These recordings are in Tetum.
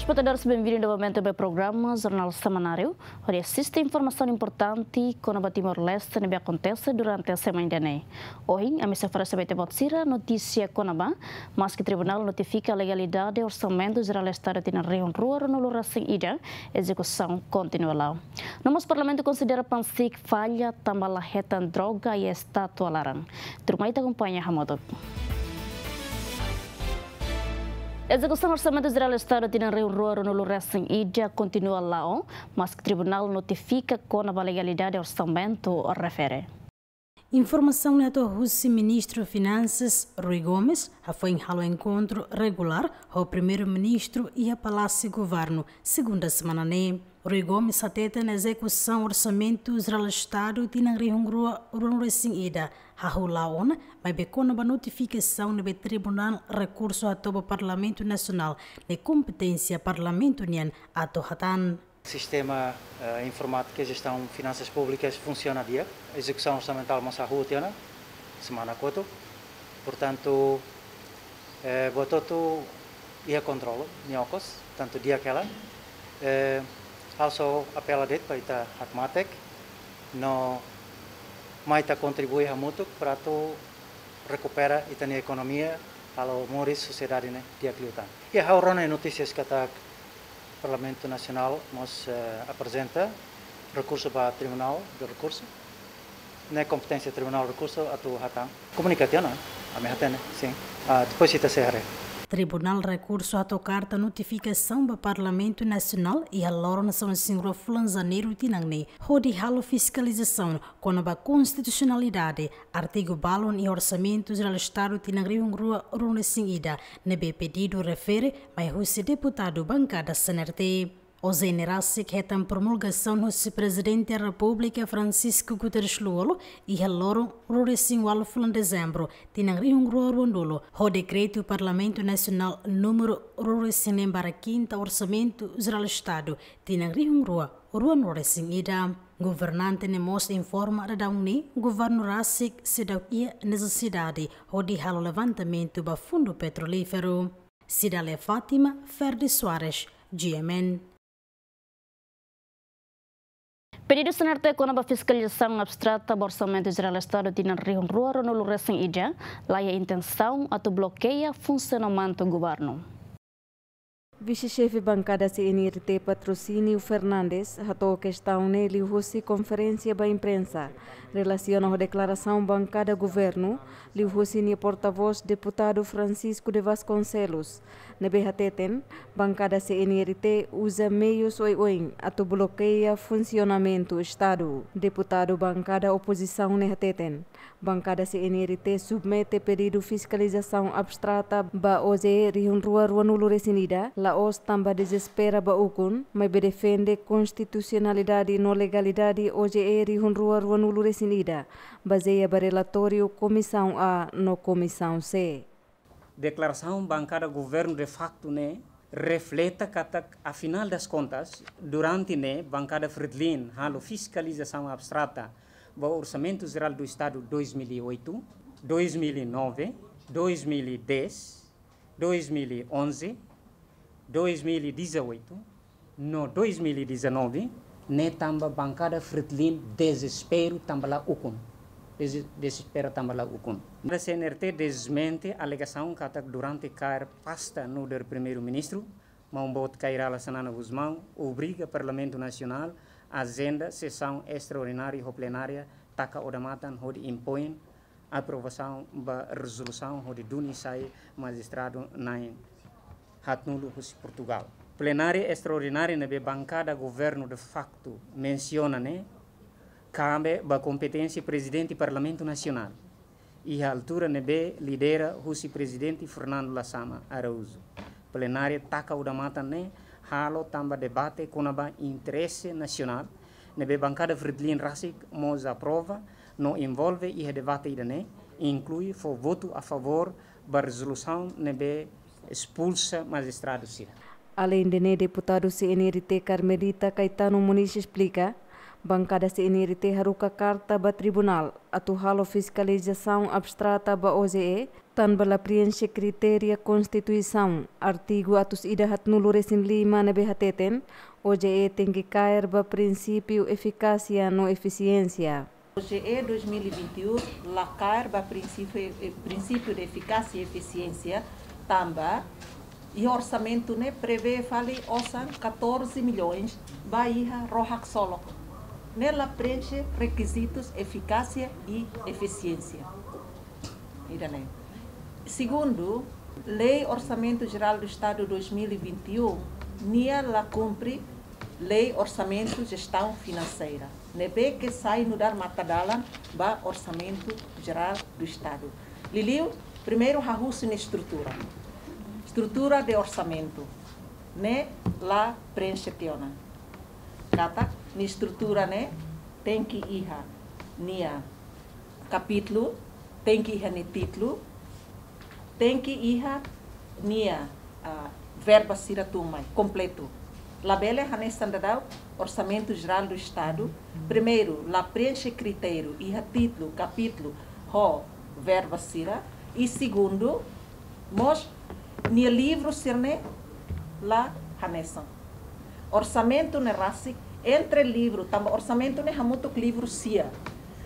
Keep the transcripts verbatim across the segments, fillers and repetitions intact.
Telespetadores, benvindu novamente ba programa Jornál Semanáriu, hodi asiste informasaun importante kona-ba Timor-Leste ne'ebé akontese durante semana ida-ne'e. Ohin, ami sei oferese ba ita-boot sira notísia kona-ba, maski tribunál notifika legalidade Orsamentu Jerál Estadu tinan rihun rua ruanulu-resin-ida, ezekusaun kontinua la'o. No mós Parlamentu konsidera PANSIC falla tanba la hetan droga iha estátua laran. Tuirmai ita akompaña hamutuk. Ezekusaun Orsamentu Jerál Estadu tinan rihun rua ruanulu-resin-ida kontinua la'o, maski tribunál notifika kona-ba legalidade orsamentu refere. Informasaun ne'e hato'o husi Ministru Finansas, Rui Gomes, hafoin halo enkontru regulár ho Primeiru-Ministru iha Palásiu Governu, segunda semana ne'e. Rui Gomes hateten ezekusaun Orsamentu Jerál Estadu tinan rihun rua ruanulu-resin-ida hahú la'o ona, maibé kona-ba notifikasaun ne'ebé Tribunál Rekursu hato'o ba Parlamentu Nasionál, ne'e kompeténsia Parlamentu nian atu hatán. Sistema, eh, informátika jestaun finansas públikas funsiona di'ak, ezekusaun orsamentál mós hahú tiha ona, semana kotuk. Portantu, eh, buat hotu iha kontrolu, nia okos, tantu di'ak hela. Eh, ha'u só apela de'it ba ita hakmatek, no mai ita kontribui hamutuk para atu rekupera ita-nia ekonomia, halo moris sosiedade ne'e di'ak liután. Iha ha'u rona notísias katak Parlamentu Nasionál mós, eh, aprezenta rekursu ba Tribunál de Rekursu. Ne'e kompeténsia Tribunál Rekursu atu hatán. Komunika tiha ona, ami hatene, sin. Ah, depois ita sei haree. Tribunál Rekursu hato'o karta notifikasaun ba Parlamentu Nasionál iha loron sanulu-resin-rua fulan Janeiru tinan ne'e, hodi halo fiskalizasaun kona-ba konstitusionalidade artigu balun iha Orsamentu Jerál Estadu tinan rihun rua ruanulu-resin-ida, ne'ebé pedidu refere mai husi deputadu bankada C N R T. Ozeene rasik hetan promulgasaun husi Prezidente Repúblika Francisco Guterres Lú-Olo iha loron ruanulu-resin-ualu fulan Dezembru tinan rihun rua ruanulu, ho dekretu Parlamentu Nasionál númeru ruanulu-resin-neen barra kinta Orsamentu Jerál Estadu tinan rihun rua ruanulu-resin-ida. Governante ne'e mós informa daudaun ne'e governu rasik seidauk iha nesesidade hodi halo levantamentu ba fundu petrolíferu. Cidália Fátima, Ferdi Soares, G M N. Pedidu C N R T kona-ba fiskalizasaun abstrata ba Orsamentu Jerál Estadu tinan rihun rua ruanulu-resin-ida, la iha intensaun atu blokeia funsionamentu governu. Vise-Xefe Bankada C N R T Patrocínio Fernandes hato'o kestaun ne'e liuhusi konferénsia ba imprensa relasiona ho deklarasaun bankada governu liuhusi nia portavós Deputadu Francisco de Vasconcelos, ne'ebé hateten bankada C N R T uza meius oioin atu blokeia funsionamentu Estadu. Deputadu bankada opozisaun ne'e hateten, bankada C N R T submete pedidu fiskalizasaun abstrata ba O J E rihun rua ruanulu-resin-ida, la'ós tanba dezespera ba ukun, maibé defende konstitusionalidade no legalidade O J E rihun rua ruanulu-resin-ida, bazeia ba relatóriu Komisaun A no Komisaun C. Deklarasaun bankada governu de facto ne'e refleta katak, afinal das contas, durante ne'e bankada Fretilin halo fiskalizasaun abstrata ba Orsamentu Jerál do Estadu dois mil e oito, dois mil e nove, dois mil e dez, dois mil e onze, dois mil e dezoito, no dois mil e dezanove, ne'e tanba bankada Fretilin dezespera tanba la ukun. Deze-, dezespera tanba la ukun. C N R T dezmente alegasaun katak durante kaer pasta nu'udar Primeiru-Ministru, Maun-boot Kay Rala Xanana Gusmão obriga Parlamentu Nasionál ajenda sesaun estraordinária ho plenária taka odamatan hodi impoin aprovasaun ba rezolusaun hodi duni sai majistradu na'in haatnulu husi Portugál. Plenária estraordinária ne'ebé bankada governu de facto mensiona ne'e kabe ba kompeténsia Prezidente Parlamentu Nasionál, iha altura ne'ebé lidera husi Prezidente Fernando Lasama Araújo. Plenária taka odamatan ne'e halo tanba debate kona-ba interese nasionál, ne'ebé bankada Fretilin rasik mós aprova no envolve iha debate ida-ne'e, inklui fó votu a favór ba rezolusaun ne'ebé espulsa majistradu sira. Aleinde ne'e, deputadu C N R T Carmelita Caetano Moniz esplika, Bankada C N R T haruka karta ba tribunál atu halo fiskalizasaun abstrata ba O J E, tanba la prienxe kritériu Konstituisaun, artigu atus ida haatnulu resin lima ne'ebé hateten, O J E tenke kaer ba prinsípiu efikásia no efisiénsia. O J E dois mil e vinte e um la kaer ba prinsípiu, eh, prinsípiu de efikásia e efisiénsia, tanba iha orsamentu ne'e prevee fali osan catorze milhões ba iha ró haksolok. Ne'e la prienxe rekizitus efikásia e efisiénsia. Ida-ne'e. Segundu, Lei Orsamentu Jerál do Estado dois mil e vinte e um, nia la kumpre Lei Orsamentu Jestaun Finanseira, ne'ebé ke sai nu'udar matadalan ba Orsamentu Jerál do Estado. Liuliu, primeiru hahú sira-nia estrutura. Estrutura de orsamentu ne'e la prienxe tiha ona. Katak nia estrutura ne'e tenke iha nia kapítulu, tenke iha nia títulu, tenke iha nia, ah, verba sira tun mai kompletu. Labele hanesan daudaun Orsamentu Jerál do Estado, primeiru, la prienxe kritériu iha títulu, kapítulu, ho verba sira, i segundu, mós nia livru sira-ne'e la hanesan. Orsamentu ne'e rasik entre livru, tanba orsamentu ne'e hamutuk livru sia.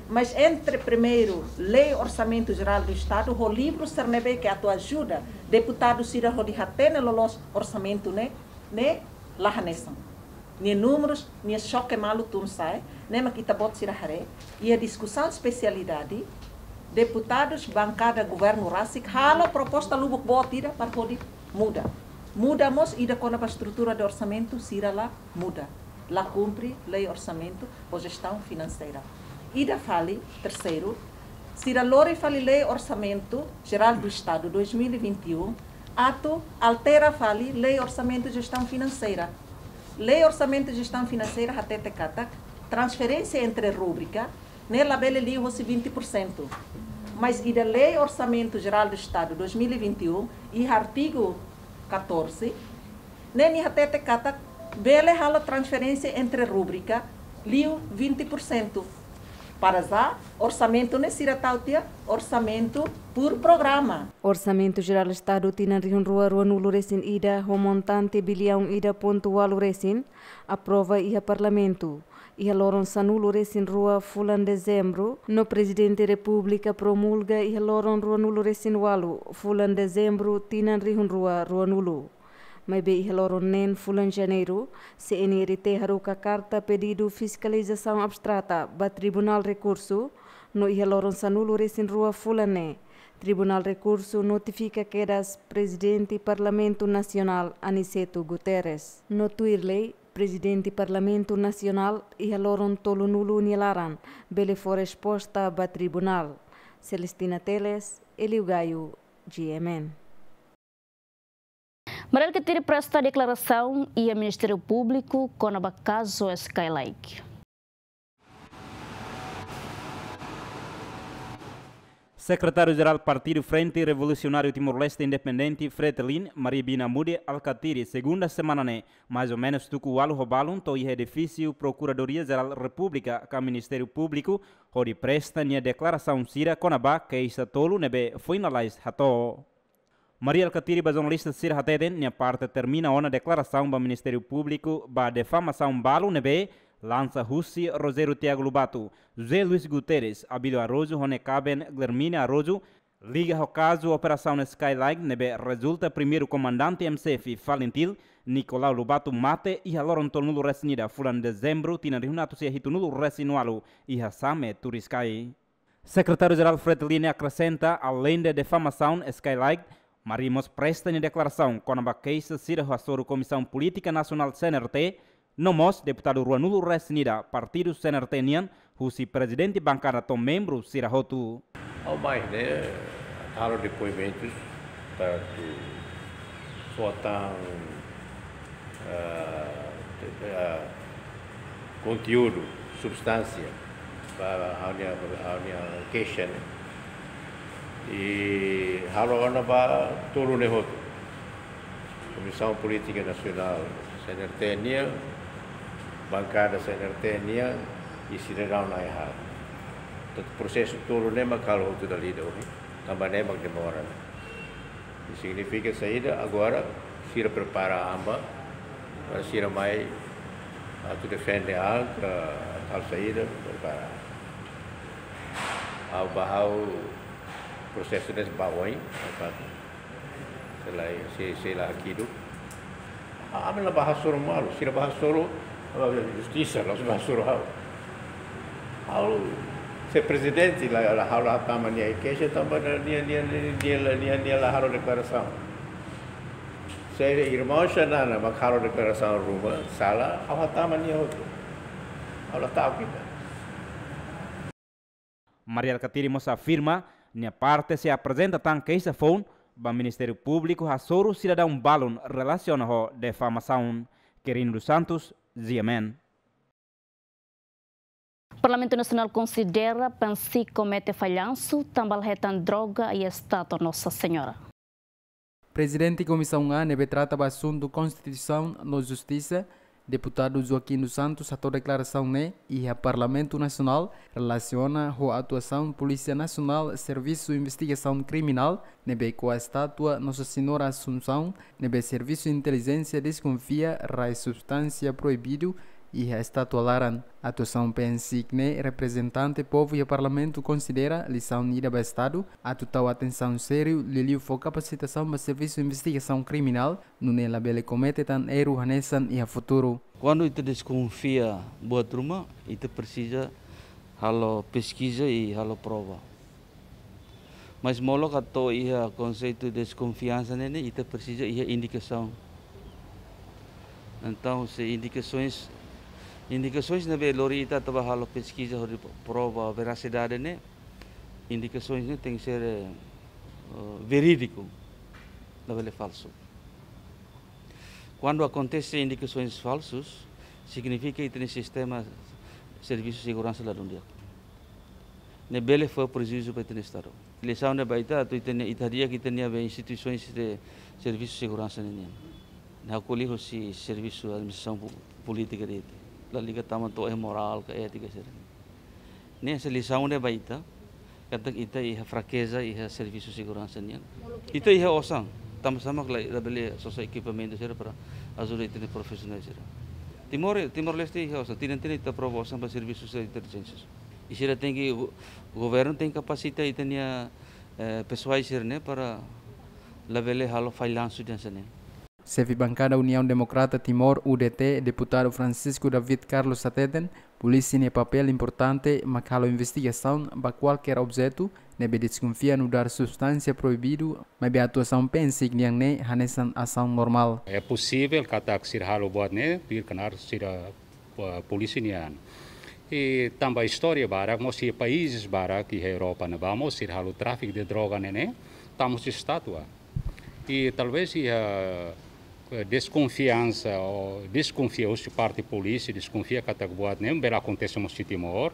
Mas entre primeiru Lei Orsamentu Jerál do Estado ho livru sira ne'ebé ke atu ajuda deputadu sira hodi hatene loloos orsamentu ne'e, ne'e la hanesan. Nia númerus, nia xoke malu tun sa'e, ne'e mak ita-boot sira haree, iha diskusaun espesialidade, deputadus bankada governu rasik halo proposta lubuk boot ida para hodi muda. Muda mós ida kona-ba estrutura de orsamentu, sira la muda. La kumpre Lei Orsamentu ho Jestaun Finanseira. Ida fali, terseiru, sira lori fali Lei Orsamentu Jerál do Estado dois mil e vinte e um, atu altera fali Lei Orsamentu Jestaun Finanseira. Lei Orsamentu Jestaun Finanseira hatete katak transferénsia entre rúbrika ne'e labele liu hosi vinte por cento. Mas iha Lei Orsamentu Jerál do Estado dois mil e vinte e um, iha artigu catorze, ne'e nia hatete katak bele halo transferénsia entre rúbrika liu vinte por cento. Para já, orsamentu ne'e sira tau tiha orsamentu por programa. Orsamentu Jerál Estadu tinan rihun rua ruanulu resin ida ho montante biliaun ida pontu ualu resin aprova iha Parlamentu iha loron sanulu resin rua fulan Dezembru, no Prezidente Repúblika promulga iha loron ruanulu resin ualu fulan Dezembru tinan rihun rua ruanulu. Maibé iha loron neen fulan Janeiru, C N R T haruka karta pedidu fiskalizasaun abstrata ba Tribunál Rekursu, no iha loron sanulu resin rua fulan ne'e, Tribunál Rekursu notifika kedas Prezidente Parlamentu Nasionál Aniceto Guterres. No tuir lei, Prezidente Parlamentu Nasionál iha loron tolunulu nia laran bele fó resposta ba Tribunál. Celestina Teles, Elio Gaio, G M N. Mari Alkatiri presta deklarasaun iha Ministériu Públiku kona-ba kazu Skylake. Sekretáriu-Jerál Partidu Frente Revolusionáriu Timor-Leste Independente, Fretilin, Mari Bina Mude Alkatiri, segunda semana ne'e, mais ou menus tuku ualu ho balun, to'o iha edifísiu Prokuradoria-Jerál Repúblika ka Ministériu Públiku, hodi presta nia deklarasaun sira kona-ba keixa tolu ne'ebé foin lalais hato'o. Mari Alkatiri ba jornalista sira hateten, nia parte termina ona deklarasaun ba Ministériu Públiku ba difamasaun balu ne'ebé lansa husi Rogério Tiago Lobato, José Luís Guterres, Abílio Araújo ho nia kaben Guilhermina Araújo, liga ho kazu Operasaun Skylake ne'ebé rezulta primeiru komandante M C F FALINTIL, Nicolau Lobato mate iha loron tolunulu resin ida fulan Dezembru tinan rihun atus sia hitunulu resin ualu iha Same, Turiscai. Sekretáriu-Jerál Fretilin akresenta, aleinde difamasaun Skylake, Mari mós presta nia deklarasaun kona-ba keixa sira hasoru Komisaun Polítika Nasionál C N R T, no mós deputadu ruanulu resin ida partidu C N R T nian, husi prezidente bankada to'o membru sira hotu. Ha'u mai ne'e halo depoimentus, tantu fó tan, eh, eh, konteúdu, substánsia ba ha'u-nia, ha'u-nia keixa ne'e. I halo ona ba tolu ne'e hotu. Komisaun Polítika Nasionál C N R T nian, bankada C N R T nian, I sidadaun na'in-haat. Tantu prosesu tolu ne'e mak halo hotu dala ida ohin, tanba ne'e mak demora. I signifika saida? Agora sira prepara an ba, para sira mai atu defende an ka halo saida, prepara. Ha'u ba ha'u prosesu ne'e ba oin, fakat. Selae, se, sei la hakidu. Ah, ami la bá hasoru malu, sira bá hasoru, ah, justisa, la bá hasoru ha'u. Ha'u, se prezidente la, la ha'u la hatama nia keixa, tanba nia, nia, nia, nia, nia la, nia, nia la halo deklarasaun. Se irmaun Xanana mak halo deklarasaun ruma, sala, ha'u hatama nia hotu. Ha'u la ta'uk ida. Mari Alkatiri mós afirma, nia parte sei aprezenta tan keixa foun ba Ministériu Públiku hasoru sidadaun balun relasiona ho difamasaun. Quirino dos Santos, G M N. Parlamentu Nasionál konsidera PNSIK komete fallansu tanba la hetan droga iha estátua Nossa Senhora. Prezidente Komisaun A ne'ebé trata ba asuntu Konstituisaun no Justisa, Deputadu Joaquim dos Santos hato'o deklarasaun ne'e iha Parlamentu Nasionál relasiona ho atuasaun Polísia Nasionál Servisu Investigasaun Kriminál ne'ebé ko'a estátua Nossa Senhora Assunção, ne'ebé servisu intelijénsia deskonfia rai substánsia proibidu iha estátua laran. Atuasaun PNSIK ne'e reprezentante povu iha Parlamentu konsidera lisaun ida ba Estadu atu tau atensaun sériu, liuliu fó kapasitasaun ba Servisu Investigasaun Kriminál, nune'e labele komete tan erru hanesan iha futuru. Kuandu ita deskonfia buat ruma, ita presiza halo peskiza i halo prova. Mas molok atu iha konseitu deskonfiansa ne'e, ita presiza iha indikasaun. Entaun, se indikasoens, indikasoens ne'ebé lori ita atu bá halo peskiza hodi prova verasidade ne'e, indikasoens ne'e tenke ser, eh, verídiku, labele falsu. Kuandu akontese indikasoens falsus, signifika ita-nia sistema servisu seguransa ladún di'ak. Ne'e bele fó prejuízu ba ita-nia Estadu. Lisaun ne'e ba ita atu ita-nia, ita di'ak ita-nia be instituisoens de servisu seguransa ninian. Ne'e ha'u ko'alia husi servisu administrasaun pu-, polítika de'it. La liga tama to'o iha morál ka étika sira. Ne'e hanesan lisaun ne'e ba ita, katak ita iha frakeza iha servisu seguransa nian. Ita iha osan, tanba sá mak la, labele sosa ekipamentu sira para ajuda ita-nia profisionál sira. Timor, Timor-Leste iha osan, tinan-tinan ita aprova osan ba servisu sira intelijénsia. I sira tenke, go-, governu tenke kapasita ita-nia, eh, pesoál sira-ne'e para labele halo fallansu hanesan ne'e. Xefe Bankada Uniaun Demokrata Timor, U D T, Deputadu Francisco David Carlos hateten, polísia nia papél importante mak halo investigasaun ba kualkér objetu ne'ebé deskonfia nu'udar substánsia proibidu, maibé atuasaun PNSIK nian ne'e hanesan asaun normál. É possível katak sira halo buat ne'e, tuir knaar sira, eh, polísia nian. I tanba istória barak, mós iha países barak, iha Europa ne'ebá mós sira halo tráfiku de droga ne'e, ne'e, tama husi estátua. I talvés iha, eh, deskonfiansa, ou deskonfia husi parte polísia, deskonfia katak buat ne'e bele akontese mós iha Timor.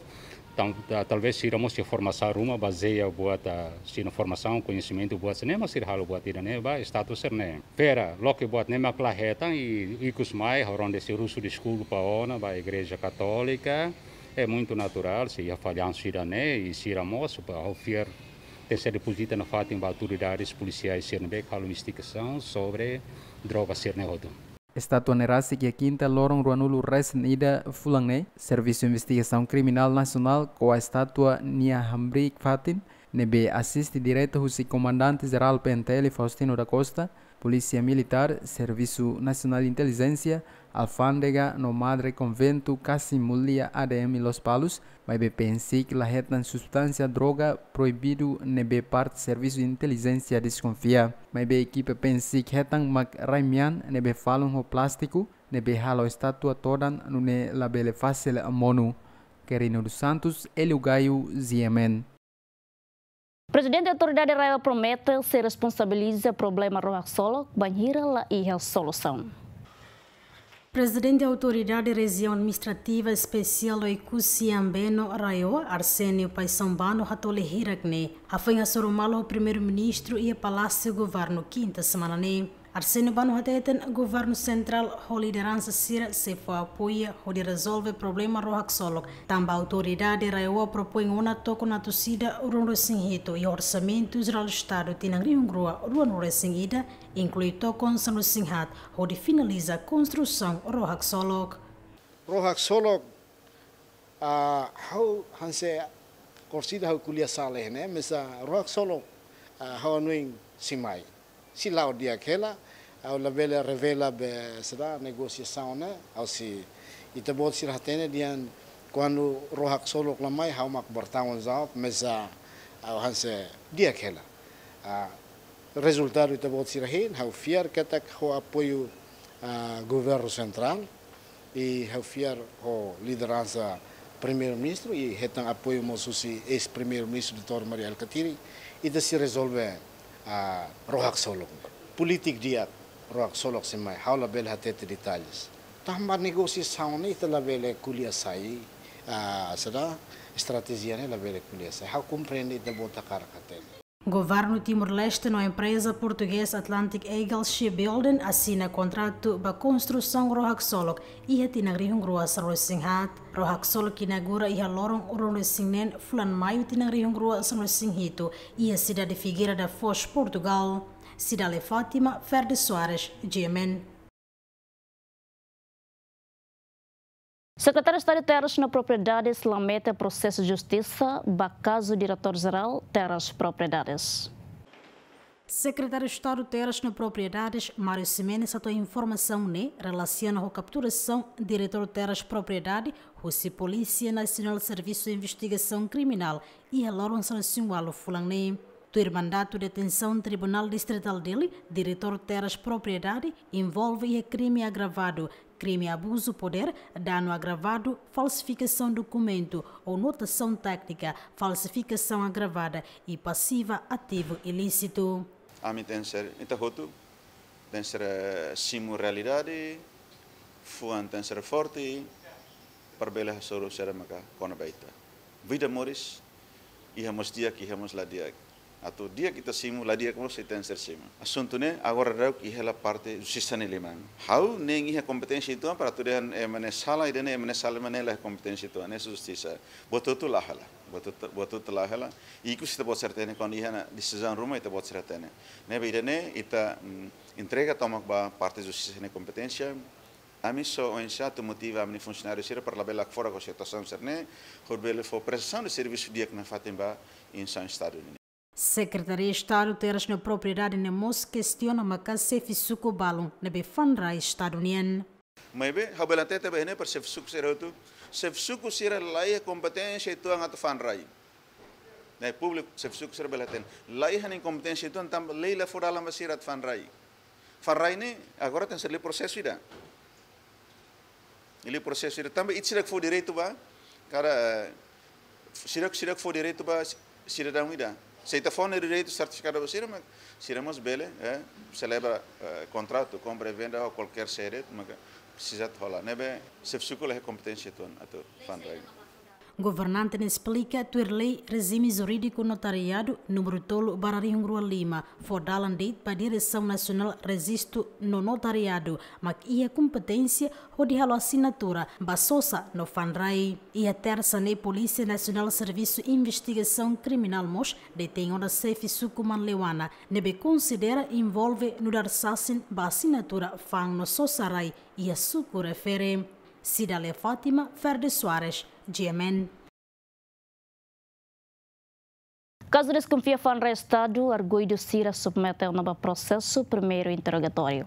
Tan-, ta-, talvés sira mós iha formasaun ruma, bazeia buat, ah, sira-nia formasaun, koñesimentu buat sira-ne'e, mas sira halo buat ida-ne'e ba estátua sira-ne'e. Vera, loke buat ne'e mak la hetan, i ikus mai, ha'u rona de'it sira husu deskulpa ona ba Igreja Katólika. É muito natural, se iha fallansu ida-ne'e, i sira mós, ba, ha'u fiar, tenke ser depozita nafatin ba autoridades polisiais sira ne'ebé halo investigasaun sobre droga sira-ne'e hotu. Estátua ne'e rasik iha kinta loron ruanulu resin ida fulan ne'e, Servisu Investigasaun Kriminál Nasionál ko'a estátua nia hamriik fatin, ne'ebé asiste diretu husi Komandante Jerál P N T L Faustino da Costa, Polísia Militár, Servisu Nasionál Intelijénsia, Alfándega no Madre Convento Kassim Mulia A D M Lospalos, maibé PNSIK la hetan substánsia droga proibidu ne'ebé parte servisu intelijénsia deskonfia. Maibé ekipa PNSIK hetan mak rai-mean ne'ebé falun ho plástiku, ne'ebé halo estátua todan nune'e labele fasil monu. Quirino dos Santos, Hélio Gaio, G M N. Prezidente Autoridade RAEOA promete sei responsabiliza problema rua haksolok bainhira la iha solusaun. Prezidente Autoridade Rejiaun Administrativa Espesiál Oekusi Ambeno RAEOA, Arsénio Paixão Bano, hato'o hirak ne'e, hafoin hasoru malu ho Primeiru-Ministru iha Palásiu Governu kinta semana ne'e. Arsénio Bano hateten governu sentrál ho lideransa sira sei fó apoiu hodi rezolve problema roha-ksolok, tanba autoridade RAEOA propoin ona tokon atusida ruanulu-resin-hitu iha Orsamentu Jerál Estadu tinan rihun rua ruanulu-resin-ida, inklui tokon sanulu-resin-haat hodi finaliza konstrusaun roha-ksolok. Roha-ksolok, ah, ha'u hanesan korsida ha'u ko'alia sala ne'e, maibé roha-ksolok, ah, ha'u hanoin sei mai. Sei la'o di'ak hela, ha'u labele revela be saida negosiasaun ne'e, ha'u sei, ita-boot sira hatene dehan kuandu roha-ksolok la mai, ha'u mak bertanggung jawab, maibé ha'u hanesan di'ak hela. Ah, rezultadu ita-boot sira hein, ha'u fiar katak ho apoiu, ah, governu sentrál, i ha'u fiar ho lideransa Primeiru-Ministru, i hetan apoiu mós husi eis-Primeiru-Ministru doutór Mari Alkatiri, ita sei rezolve, ah, roha-ksolok. Polítika di'ak, roha-ksolok sei mai, ha'u labele hatete detalles. Tanba negosiasaun ne'e ita labele ko'alia sai, ah, saida, estratéjia ne'e labele ko'alia sai. Ha'u komprende ita-boot hakarak hatene. Governu Timor-Leste no empreza portugés Atlantic Eagle Shipbuilding asina kontratu ba konstrusaun roha-ksolok iha tinan rihun rua sanulu-resin-haat. Roha-ksolok inaugura iha loron ruanulu-resin-neen fulan Maiu tinan rihun rua sanulu-resin-hitu iha sidade Figueira da Foz, Portugal. Cidália Fátima, Ferdi Soares, G M N. Sekretáriu Estadu Terras no Propriedades la mete prosesu justisa ba kazu Diretór Jerál Terras Propriedades. Sekretáriu Estadu Terras no Propriedades, Mário Ximenes, hato'o informasaun ne'e relasiona ho kapturasaun Diretór Terras Propriedade husi Polísia Nasionál Servisu Investigasaun Kriminál iha loron sanulu-resin-ualu fulan ne'e. Tuir mandatu detensaun Tribunál Distritál Dili, Diretór Terras Propriedade envolve iha krime agravadu, krime abuzu podér, danu agravadu, falsifikasaun dokumentu ou notasaun téknika, falsifikasaun agravada i pasiva ativu ilísitu. Ami tenke ser, ita hotu tenke ser, eh, simu realidade, fuan tenke ser forte, para bele hasoru sira maka kona-ba ita. Vida moris, iha mós di'ak, iha mós la di'ak. Atu di'ak ita simu, la di'ak mós ita tenke ser simu. Asuntu ne'e agora daudaun iha hela parte justisa nia liman. Ha'u nein iha kompeténsia uitoan para atu dehan ema ne'e sala, ida-ne'e ema ne'e sala, ema ne'e la iha kompeténsia uitoan, ne'e justisa. Buat hotu la hela, buat hotu, buat hotu la hela. Ikus ita-boot sira hatene, kuandu iha ona desizaun ruma ita-boot sira hatene. Ne'ebé ida-ne'e ita, mm, entrega tomak ba parte justisa nia kompeténsia. Ami só oinsá atu motiva ami-nia funsionáriu sira para labele hakfodak ho situasaun sira-ne'e, hodi bele fó prestasaun de servisu di'ak nafatin ba instituisaun Estadu nian. Sekretaria Estadu Terras no Propriedade ne'e mós kestiona maka xefe suku balun ne'ebé fa'an rai Estadu nian. Maibé, ha'u bele hatete ba ne'e para xefe suku sira hotu, xefe suku sira la iha kompeténsia uitoan atu fa'an rai. Ne'e públiku, xefe suku sira bele hatene. La iha nia kompeténsia uitoan tanba lei la fó dalan ba sira atu fa'an rai. Fa'an rai ne'e, agora tenke ser liu prosesu ida. Liu prosesu ida. Tanba ita seidauk fó direitu ba, kada, eh, seidauk, seidauk fó direitu ba si-, sidadaun ida. Se ita fó nia direitu sertifikadu ba sira, mak sira mós bele, eh, selebra, eh, kontratu, kompra i venda ou kualkér saida de'it, maka presiza atu hola. Ne'ebé, xefe suku la iha kompeténsia uitoan atu fa'an rai. Governante ne'e esplika tuir lei rejime jurídiku notariadu númeru tolu barra rihun rua lima, fó dalan de'it ba Diresaun Nasionál Rejistu no Notariadu, mak iha kompeténsia hodi halo asinatura ba sosa no fa'an rai. Iha tersa ne'e Polísia Nasionál Servisu Investigasaun Kriminál mós detein ona xefe suku Manleuana, ne'ebé konsidera envolve nu'udar sasin ba asinatura fa'an no sosa rai iha suku refere. Cidália Fátima, Ferdi Soares, G M N. Kazu deskonfia fa'an rai Estadu, arguidu sira submete ona ba prosesu primeiru interrogatóriu.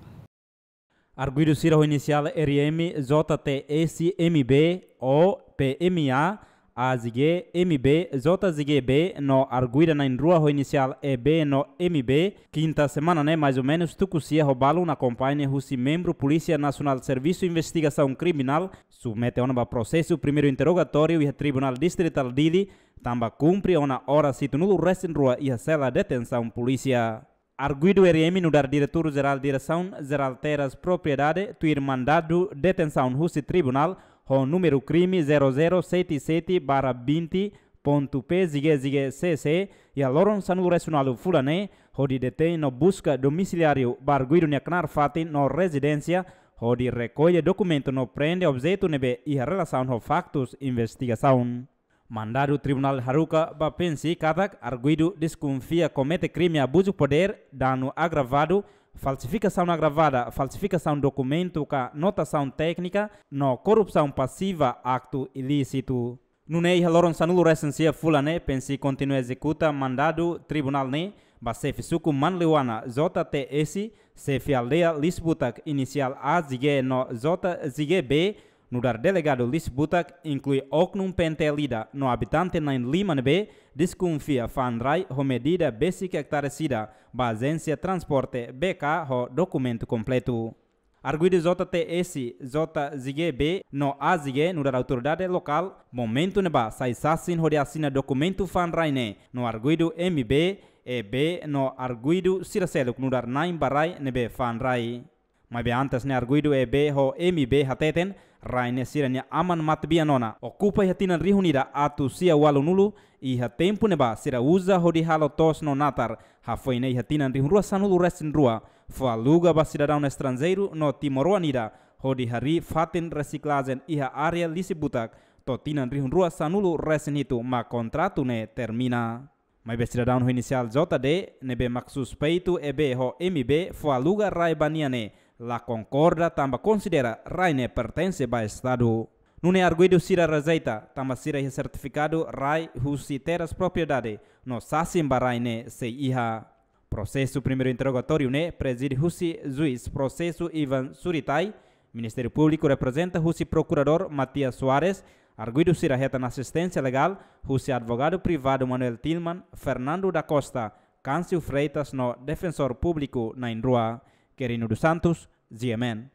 Arguidu sira ho inisiál R M, J T S, M B, O, P M A, A Z G, M B, J Z G B, no arguida na'in-rua ho inisiál E B no M B, kinta semana ne'e mais ou menos tuku sia ho balun akompaña husi membru Polísia Nasionál Servisu Investigasaun Kriminál, submete ona ba prosesu primeiru interrogatóriu iha Tribunál Distritál Dili, tanba kumpre ona oras hitunulu-resin-rua iha sela detensaun polísia. Arguidu R M nu'udar Diretór Jerál Diresaun Jerál Terras Propriedade, tuir mandadu detensaun husi tribunál, ho númeru krime zero zero sete sete barra vinte ponto P Z G Z G C C, Iha loron sanulu-resin-ualu fulan ne'e, hodi detein no buska domisiliáriu ba arguidu nia knaar fatin no rezidénsia, hodi rekolla dokumentu no prende objetu ne'ebé iha relasaun ho faktus investigasaun. Mandadu tribunál haruka ba Pensi katak arguidu deskonfia komete krime abuzu podér, danu agravadu, falsifikasaun agravada, falsifikasaun dokumentu ka notasaun téknika, no korrupsaun pasiva, aktu ilísitu. Nune'e iha loron sanulu-resin-sia fulan ne'e, Pensi kontinua ezekuta mandadu tribunál ne'e ba xefe suku Manleuana, J T S, xefe aldeia Lisibutak, inisiál A Z G, no J Z G B, nu'udar delegadu Lisibutak, inklui oknum P N T L ida no abitante na'in-lima ne'ebé deskonfia fa'an rai ho medida besik ektare sida ba Ajénsia Transporte B K ho dokumentu kompletu. Arguidu J T S, J Z G B no A Z G nu'udar autoridade lokál, momentu ne'ebá sai sasin hodi asina dokumentu fa'an rai ne'e, no arguidu M B, E B no arguidu sira seluk nu'udar na'in ba rai ne'ebé fa'an rai. Maibé antes ne'e arguidu E B ho M B hateten, rai ne'e sira-nia aman matebian ona okupa iha tinan rihun ida atus sia ualunulu, iha tempu ne'ebá sira uza hodi halo to'os no natar, hafoin ne'e iha tinan rihun rua sanulu-resin-rua, fó aluga ba sidadaun estranjeiru no timoroan ida, hodi harii fatin resiklajen iha área Lisibutak, to'o tinan rihun rua sanulu-resin-hitu mak kontratu ne'e termina. Maibé sidadaun ho inisiál J D, ne'ebé mak suspeitu E B ho M B fó aluga rai ba nia ne'e, la konkorda tanba konsidera rai ne'e pertense ba Estadu. Nune'e arguidu sira rejeita, tanba sira iha sertifikadu rai husi Terras Propriedade, no sasin ba rai ne'e sei iha. Prosesu primeiru interrogatóriu ne'e prezide husi juís prosesu Ivan Suritai, Ministériu Públiku reprezenta husi Prokuradór Matias Soares, arguidu sira hetan asisténsia legál husi advogadu privadu Manuel Tilman, Fernando da Costa, Câncio Freitas no defensór públiku na'in-rua. Querino dos Santos, G M N.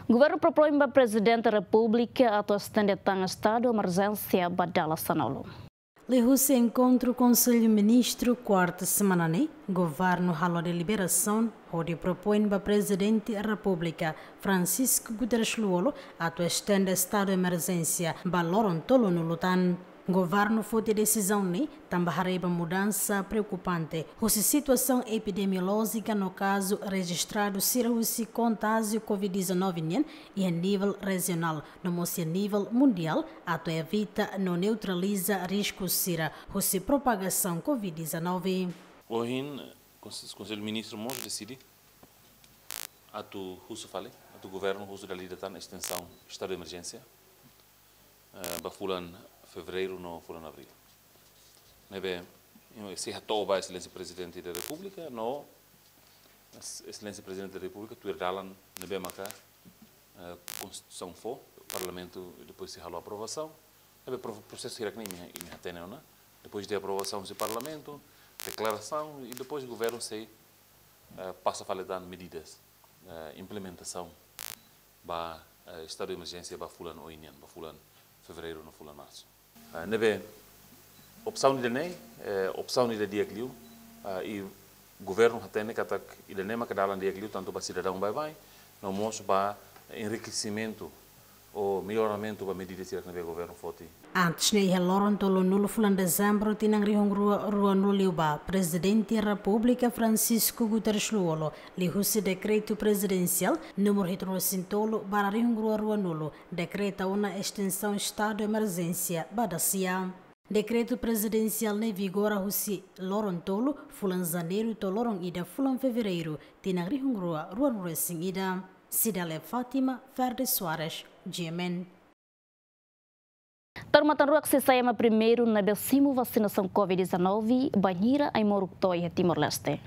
Governu propoin ba Prezidente Repúblika atu estende tan estadu emerjénsia ba dala sanulu. Liuhusi enkontru Konsellu Ministru kuarta semana ne'e, Governu halo deliberasaun hodi propoin ba Prezidente Repúblika Francisco Guterres Lú-Olo atu estende estadu emerjénsia ba loron tolunulu tan. Governu foti desizaun ne'e tanba haree ba mudansa preokupante husi situasaun epidemiolójika no kazu rejistradu sira husi kontájiu covid dezanove nian iha nivel rejionál no mós iha nivel mundiál, atu evita no neutraliza risku sira husi propagasaun covid dezanove. Ohin, Kons-, Konsellu Ministru mós deside atu husu fali, atu Governu husu dala ida tan estensaun estadu de emerjénsia, eh, ba fulan Fevereiru no fulan Abríl. Ne'ebé, ino, sei hato'o ba Exelénsia Prezidente da Repúblika, no Ex-, Exelénsia Prezidente da Repúblika tuir dalan ne'ebé maka, eh, Konstituisaun fó, Parlamentu depois sei halo aprovasaun. Ne'ebé pro-, prosesu hirak ne'e imi, imi hatene ona. Depois de aprovasaun husi Parlamentu, deklarasaun, i depois Governu sei, eh, pasa fali tan medidas, eh, implementasaun ba, eh, estadu de emerjénsia ba fulan oin nian, ba fulan Fevereiru no fulan Marsu. Ah, ne'ebé opsaun ida-ne'e, eh, opsaun ida di'ak liu, ah, i Governu hatene katak ida-ne'e maka dalan di'ak liu, tantu ba sidadaun baibain, no mós ba enrikesimentu ou melloramentu ba medidas sira ne'ebé Governu foti. Antes ne'e iha loron tolunulu fulan Dezembru tinan rihun rua ruanulu liubá, Prezidente Repúblika Francisco Guterres Lú-Olo, liuhusi Dekretu Prezidensiál númeru hitunulu-resin-tolu barra rihun rua ruanulu, dekreta ona estensaun estadu emerjénsia ba dasia. Dekretu prezidensiál ne'e vigora husi loron tolu fulan Janeiru to'o loron ida fulan Fevereiru tinan rihun rua ruanulu-resin-ida. Cidália Fátima, Ferdi Soares, G M N. Taur matan-ruak sei sai ema primeiru ne'ebé simu vasinasaun covid dezanove bainhira ai-moruk to'o iha Timor-Leste.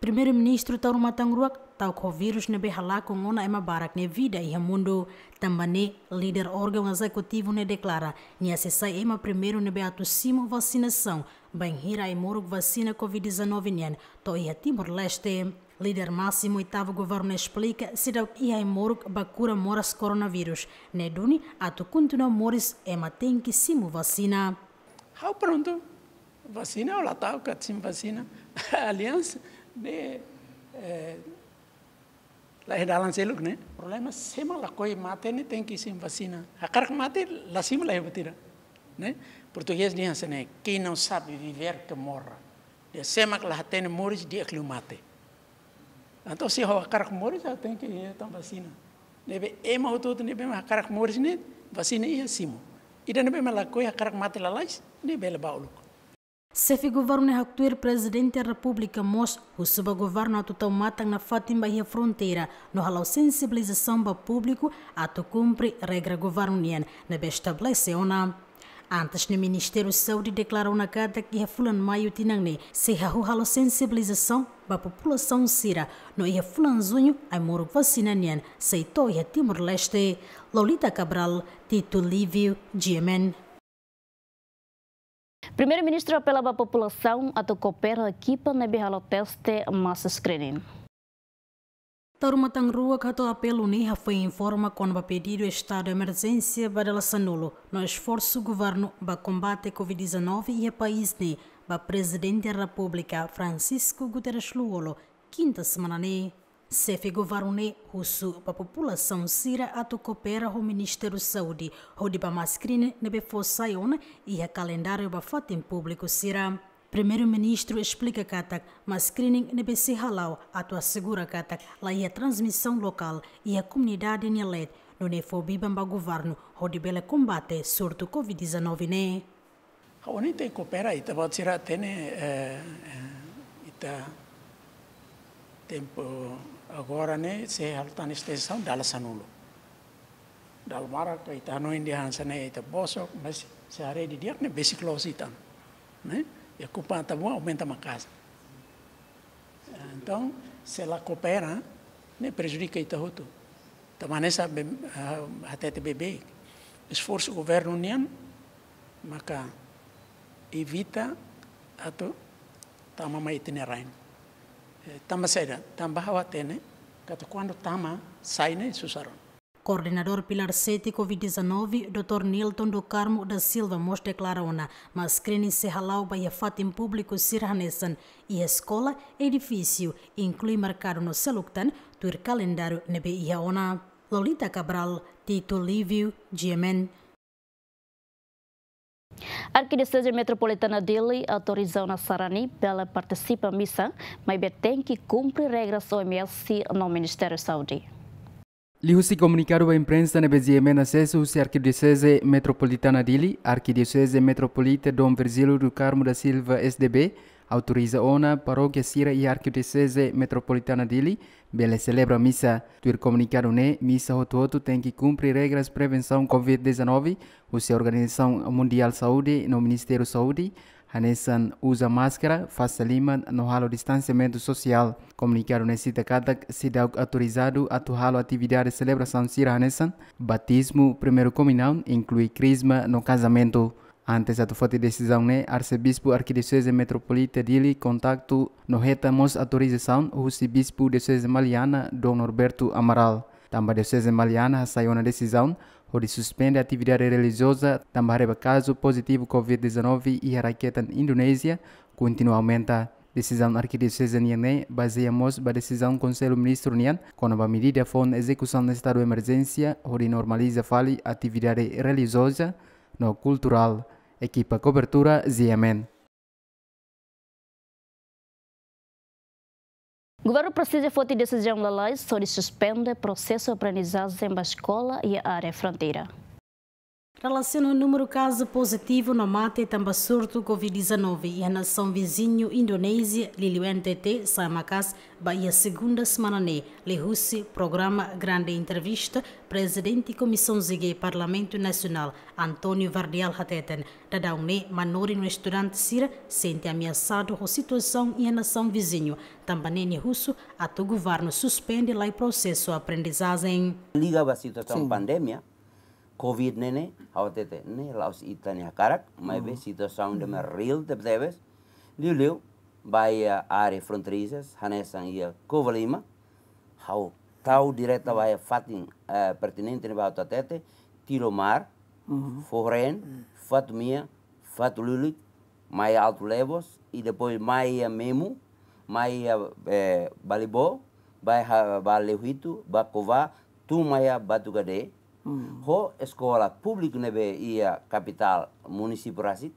Primeiru-Ministru taur matan-ruak ta'uk ho vírus ne'ebé halakon ona ema barak nia vida iha mundu. Tanba ne'e, líder órgaun ezekutivu ne'e deklara nia sei sai ema primeiru ne'ebé atu simu vasinasaun bainhira ai-moruk vasina covid dezanove nian to'o iha Timor-Leste. Líder másimu oitavu governu esplika seidauk iha ai-moruk ba kura moras koronavírus, ne'e duni atu kontinua moris ema tenke simu vasina. Ha'u prontu. Vasina ou la ta'uk atu simu vasina. Aliansa ne'e, eh, la iha dalan seluk ne'e. Problema sé mak lakohi mate ne'e tenke simu vasina. Hakarak mate la simu la iha buat ida. Ne'e? Portugés dehan hanesan ne'e, quem não sabe viver que morra. Dehan sé mak la hatene moris di'ak liu mate. Entaun se ha'u hakarak moris, ha'u tenke hetan vasina. Ne'ebé ema hotu-hotu ne'ebé mak hakarak moris ne'e, vasina iha simu. Ida ne'ebé mak lakohi hakarak mate lalais, ne'e bele bá uluk. Xefe governu ne'e haktuir Prezidente Repúblika mós husu ba governu atu tau matan nafatin ba iha fronteira no hala'o sensibilizasaun ba públiku atu kumpre regra governu nian ne'ebé estabelese ona. Antes ne'e Ministériu Saúde deklara ona katak iha fulan Maiu tinan ne'e sei hahú halo sensibilizasaun ba populasaun sira no iha fulan Juñu ai-moruk vasina nian sei to'o iha Timor-Leste. Lolita Cabral, Tito Livio, G M N. Primeiru-Ministru apela ba populasaun atu koopera ekipa ne'ebé halo teste masa screening. Taur matan rua hato'o apelu ne'e hafoin informa kona-ba pedidu estadu emerjénsia ba dala sanulu no esforsu governu ba kombate covid dezanove iha país ne'e ba Prezidente Repúblika Francisco Guterres Lú-Olo, kinta semana ne'e. Xefe governu ne'e husu ba populasaun sira atu koopera ho Ministériu Saúde hodi bá masa screening ne'ebé fó sai ona iha kalendáriu ba fatin públiku sira. Primeiru-Ministru esplika katak masa screening ne'ebé sei hala'o atu asegura katak la iha transmisaun lokál iha komunidade nia leet, nune'e fó biban ba governu hodi bele kombate surtu covid dezanove ne'e. Ha'u hanoin tenke koopera, ita-boot sira hatene, eh, eh, ita tempu agora ne'e sei halo tan estensaun dala sanulu. Dala barak ita hanoin dehan hanesan ne'e ita bosok, mas se haree didi'ak ne'e besik loos ita, ne'e? Iha Kupang Atabuan aumenta maka'as. Entaun, se la koopera, ne'e prejudika ita hotu. Tanba hanesan be, ah, hatete beibeik. Esforsu governu nian, maka evita atu tama mai ita-nia rain. Eh, tanba saida, tanba ha'u hatene, katak kuandu tama, sai ne'e susar ona. Koordenadór Pilar sete covid dezanove, doutór Nilton do Carmo da Silva mós deklara ona, masa screening sei hala'o ba iha fatin públiku sira hanesan iha eskola, edifísiu, inklui merkadu no seluk tan, tuir kalendáriu ne'ebé iha ona. Lolita Cabral, Tito Livio, G M N. Arkidioseze Metropolitana Dili autoriza ona sarani bele partisipa misa, maibé tenke kumpre regras O M S no Ministériu Saúde. Liuhusi komunikadu ba imprensa ne'ebé G M N asesu husi Arkidioseze Metropolitana Dili, Arkidioseze Metropolita Dom Virgílio do Carmo da Silva, S D B, autoriza ona parókia sira iha Arkidioseze Metropolitana Dili bele selebra misa. Tuir komunikadu ne'e, misa hotu-hotu tenke kumpre regras prevensaun covid dezanove husi Organizasaun Mundiál Saúde no Ministériu Saúde, hanesan uza máskara, fase liman no halo distansiamentu sosiál. Komunikadu ne'e sita katak seidauk autorizadu atu halo atividade selebrasaun sira hanesan batizmu, primeiru komunaun, inklui krizma no kazamentu. Antes atu foti desizaun ne'e, Arsebispu Arkidioseze Metropolita Dili kontaktu no hetan mós autorizasaun husi Bispu Dioseze Maliana, Dom Norberto Amaral. Tanba Dioseze Maliana hasai ona desizaun hodi suspende atividade relijioza tanba haree ba kazu pozitivu covid dezanove iha raiketan Indonézia kontinua aumenta. Desizaun Arkidioseze nian ne'e bazeia mós ba desizaun Konsellu Ministru nian kona-ba medida foun ezekusaun estadu emerjénsia hodi normaliza fali atividade relijioza no kulturál. Ekipa kobertura, G M N. Governu presiza foti desizaun lalais hodi suspende prosesu aprendizajen ba eskola iha área fronteira. Relasiona ho númeru kazu pozitivu no mate tanba surtu covid dezanove iha nasaun viziñu Indonézia, liuliu N T T, sa'e maka'as ba iha segunda semana ne'e, liuhusi programa Grande Entrevista, Prezidente Komisaun G G Parlamentu Nasionál, António Vardial hateten, daudaun ne'e manorin no estudante sira sente ameasadu ho situasaun iha nasaun viziñu, tanba ne'e nia husu atu governu suspende lai prosesu aprendizajen. Liga ba situasaun Sin. Pandemia, covid ne'e ne'e, ha'u hatete, ne'e la'ós ita-nia hakarak, maibé Mm. situasaun ida Mm. mak reál tebetebes. Liuliu, ba iha área fronteira, hanesan iha Covalima, ha'u tau direta ba iha fatin, eh, pertinente ne'ebá ha'u hatete, Tilomar, Mm. Foho Reen, Mm. Fatumea, Fatululik, mai Alto Levos, i depois mai iha Memu, mai iha, eh, Balibó, ba iha, ba Lewitu, ba Cova, tun mai iha Batugade, Ho eskola públiku ne'ebé iha kapitál munisípiu rasik.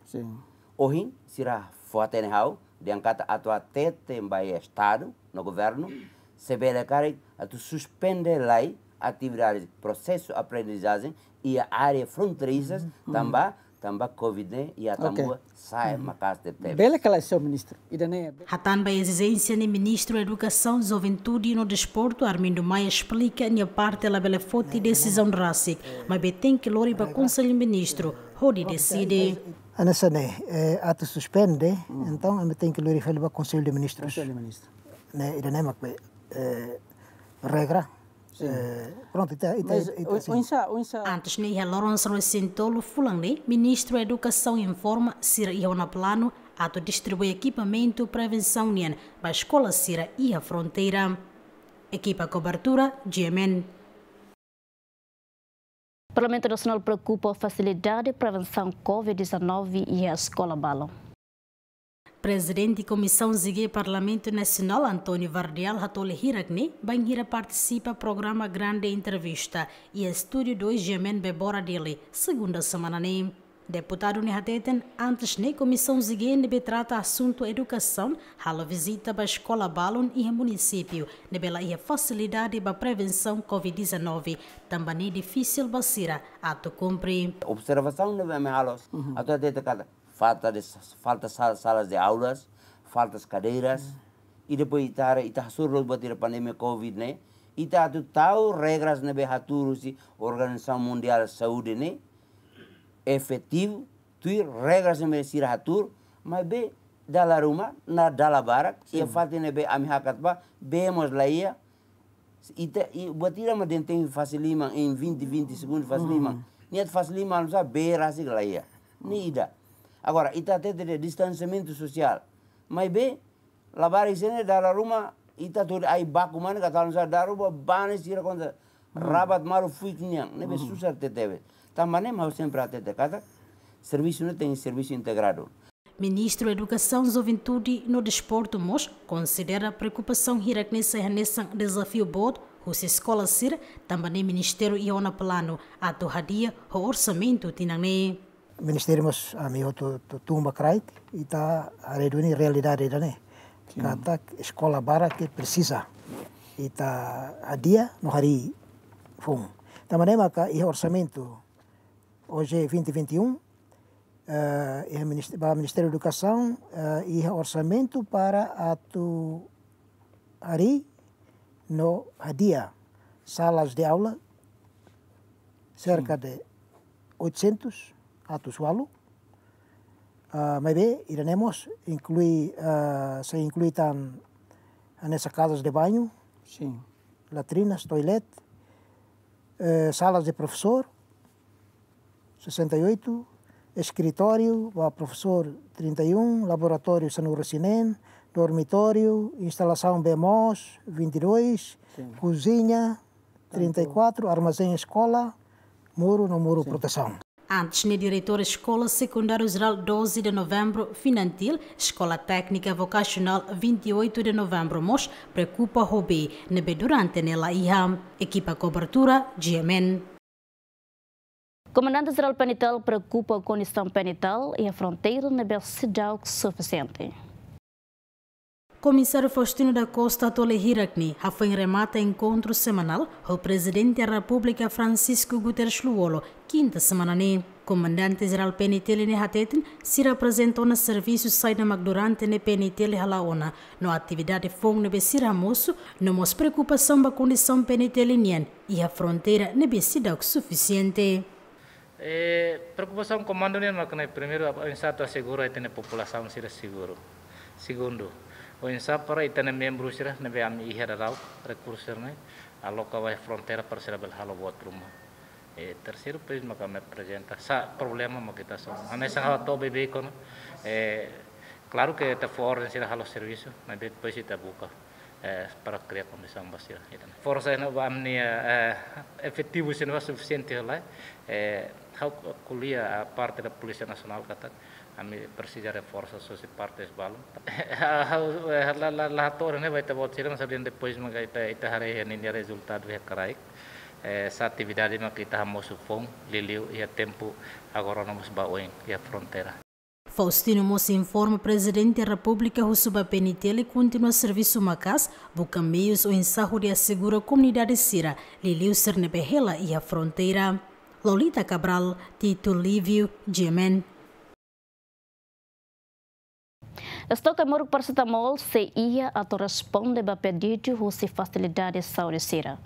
Ohin sira fó-hatene ha'u, dehan katak atu hatete ba iha estadu no governu, se bele karik atu suspende lai atividade, prosesu aprendizajen iha área fronteiriza, tanba, tanba covid ne'e iha Atambua sa'e maka'as tebetebes. Bele kala, señór ministru. Ida-ne'e hatán ba ezijénsia ne'e, Ministru Edukasaun, Juventude no Desportu, Armindo Maia, esplika nia parte labele foti desizaun rasik, maibé tenke lori ba Konsellu Ministru hodi deside. Hanesan ne'e, eh, atu suspende, entaun ami tenke lori fali ba Konsellu de Ministrus. Ne'e, ida-ne'e mak be, eh, regra. Eh, prontu, ita, ita, ita, sin. Antes ne'e, iha loron sanulu-resin-tolu fulan ne'e, Ministru Edukasaun informa sira iha ona planu atu distribui ekipamentu prevensaun nian ba eskola sira iha fronteira. Ekipa kobertura, G M N. Parlamentu Nasionál preokupa fasilidade prevensaun covid dezanove iha eskola balun. Prezidente Komisaun G G Parlamentu Nasionál, António Vardial, hato'o hira-ne'e bainhira partisipa programa Grande Entrevista iha Estúdiu dois G M N Bebora, Dili, segunda semana ne'e. Deputadu ne'e hateten, antes ne'e Komisaun G G ne'ebé trata asuntu edukasaun halo vizita ba eskola balun iha munisípiu ne'ebé la iha fasilidade ba prevensaun covid dezanove, tanba ne'e difisil ba sira atu kumpre. Observasaun ne'ebé ami halo, atu hatete katak falta de, falta sal-, salas de aulas, faltas kadeiras, i depois ita haree, ita hasoru loos buat ida pandemia covid ne'e, ita atu tau regras ne'ebé hatuur husi Organizasaun Mundiál Saúde ne'e, efetivu, tuir regras ne'ebé sira hatuur, maibé dala ruma, na dala barak, iha fatin ne'ebé ami hakat bá, bee mós la iha, ita, i, buat ida mak dehan tenke fase liman em vinte, vinte segundos fase liman. Nia atu fase liman, almosa, bee rasik la iha. Ne'e ida. Agora, ita hatete dehan distansiamentu sosiál. Maibé, labarik sira-ne'e dala ruma, ita atu ai baku mane, katak almosa dala ruma, bane sira konta rabat malu fuik nian. Ne'ebé susar tebetebes. Tanba ne'e mak ha'u sempre hatete katak servisu ne'e tenke servisu integradu. Ministru Edukasaun, Juventude no Desportu mós konsidera preokupasaun hirak-ne'e sai hanesan dezafiu boot husi eskola sira, tanba ne'e ministériu iha ona planu atu hadi'a ho orsamentu tinan ne'e. Ministériu mós ami hotu tun ba kraik, ita haree duni realidade ida-ne'e. Katak eskola barak ke presiza ita hadi'a no harii foun. Tanba ne'e maka iha orsamentu O J vinte vinte e um, eh, iha minist-, ba Ministériu Edukasaun, eh, iha orsamentu para atu harii no hadi'a salas de aula serka de oitocentos, atus ualu. Ah, maibé ida-ne'e mós inklui, ah, sei inklui tan hanesan casas de banho, latrinas, toilet, eh, salas de profesór, sessenta e oito, eskritóriu ba profesór, trinta e um, laboratóriu, sanulu-resin-neen, dormitóriu, instalasaun bee moos, vinte e dois, kuziña, trinta e quatro, armazén eskola, muru no muru protesaun. Antes ne'e, diretór Eskola Sekundária Jerál doze de Novembro, Finantil, Eskola Téknika Vokasionál vinte e oito de Novembro mós preokupa ho bee ne'ebé durante ne'e la iha. Ekipa kobertura, G M N. Komandante Jerál PNTL preokupa ho kondisaun PNTL iha fronteira ne'ebé seidauk sufisiente. Komisáriu Faustino da Costa hato'o hirak-ne'e hafoin remata enkontru semanál ho Prezidente Repúblika Francisco Guterres Lú-Olo, kinta semana ne'e. Komandante Jerál PNTL ne'e hateten, sira aprezenta ona servisu saida mak durante ne'e PNTL hala'o ona, no atividade foun ne'ebé sira hamosu, no mós preokupasaun ba kondisaun PNTL nian iha fronteira ne'ebé seidauk sufisiente. Eh, preokupasaun komandu nian mak ne'e, primeiru, oinsá atu asegura ita-nia populasaun sira seguru. Segundu, oinsá para ita-nia membru sira ne'ebé ami iha daudaun, rekursu sira-ne'e aloka ba fronteira para sira bele halo buat ruma. Eh, terseiru, depois maka ami aprezenta. Sá problema mak ita hasoru. Hanesan ha'u hato'o beibeik ona. Eh, klaru ke ita fó orden sira halo servisu, maibé depois ita buka, eh, para kria kondisaun ba sira. Ita-nia forsa ne'e ba ami-nia, eh, efetivu sira ne'e ba sufisiente ka lae. Eh, ha'u ko'alia ba parte da Polísia Nasionál katak ami presiza reforsa husi parte balun. Ha'u, eh, la, la, la hato'o ne'e ba ita-boot sira, mas dehan depois maka ita, ita haree ninia rezultadu iha kraik. Eh, sá atividade mak ita hamosu foun, liuliu iha tempu agora ona mós ba oin iha fronteira. Faustino mós informa Prezidente Repúblika husu ba P N T L kontinua servisu maka'as, buka meius oinsá hodi asegura komunidade sira, liuliu sira ne'ebé hela iha fronteira. Lolita Cabral, Tito Livio, G M N. Estoke ai-moruk paracetamol sei iha atu responde ba pedidu husi fasilidade saúde sira.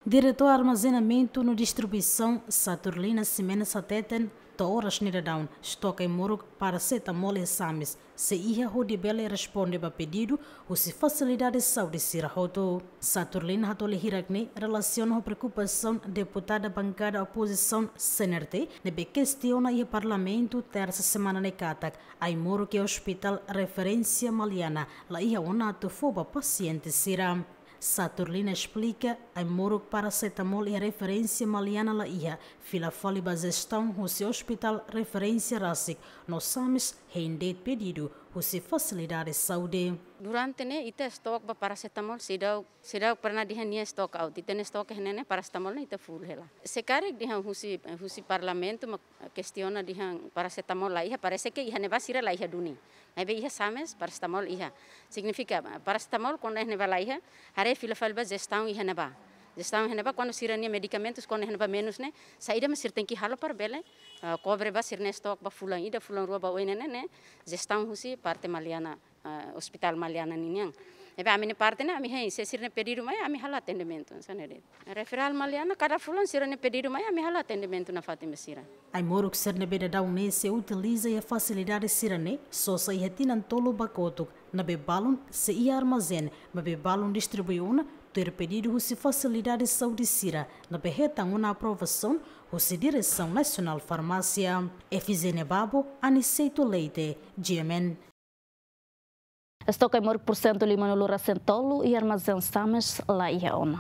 Diretór Armazenamentu no Distribuisaun, Saturnina Ximenes hateten, to'o oras ne'e daudaun, estoke ai-moruk paracetamol iha SAMES sei iha hodi bele responde ba pedidu husi fasilidade saúde sira hotu. Saturnina hato'o hirak-ne'e relasiona ho preokupasaun deputada bankada opozisaun C N R T ne'ebé kestiona iha Parlamentu Tersa semana ne'e katak ai-moruk iha Hospital Referénsia Maliana la iha ona atu fó ba pasiente sira. Saturnina esplika, ai-moruk paracetamol iha Referénsia Maliana la iha, fila fali ba jestaun husi Hospital Referénsia rasik, no SAMES hein de'it pedidu husi fasilidade saúde. Durante ne'e ita stok ba paracetamol seidauk, seidauk pernah dehan nia stock out. Ita-nia stok ne'e, ne'e paracetamol ne'e ita full hela. Se karik dehan husi, husi Parlamentu mak kestiona dehan paracetamol la iha, parese ke iha ne'ebá sira la iha duni. Maibé iha SAMES paracetamol iha. Signifika, paracetamol kuandu iha ne'ebá la iha, haree fila fali ba jestaun iha ne'ebá. Jestaun iha ne'ebá kuandu sira-nia medikamentus kuandu iha ne'ebá menus ne'e, saida mak sira tenke halo para bele, eh, kobre ba sira-nia stok ba fulan ida, fulan rua ba oin ne'e, ne'e, jestaun husi parte Maliana, eh, Hospital Maliana ninian. Ne'ebé ami-nia parte ne'e, ami hein, se sira-nia pedidu mai, ami halo atendimentu, hanesan ne'e de'it. Referral Maliana, kada fulan sira-nia pedidu mai, ami halo atendimentu nafatin ba sira. Ai-moruk sira ne'ebé daudaun ne'e sei utiliza iha fasilidade sira-ne'e, sosa iha tinan tolu ba kotuk, ne'ebé balun sei iha armazén, maibé balun distribui ona, tuir pedidu husi fasilidade saúde sira, ne'ebé hetan ona aprovasaun husi Diresaun Nasionál Farmásia. Efizénia Babo, Aniceto Leite, G M N. Estoke ai-moruk porsentu lima-nulu resin tolu iha armazén SAMES la iha ona.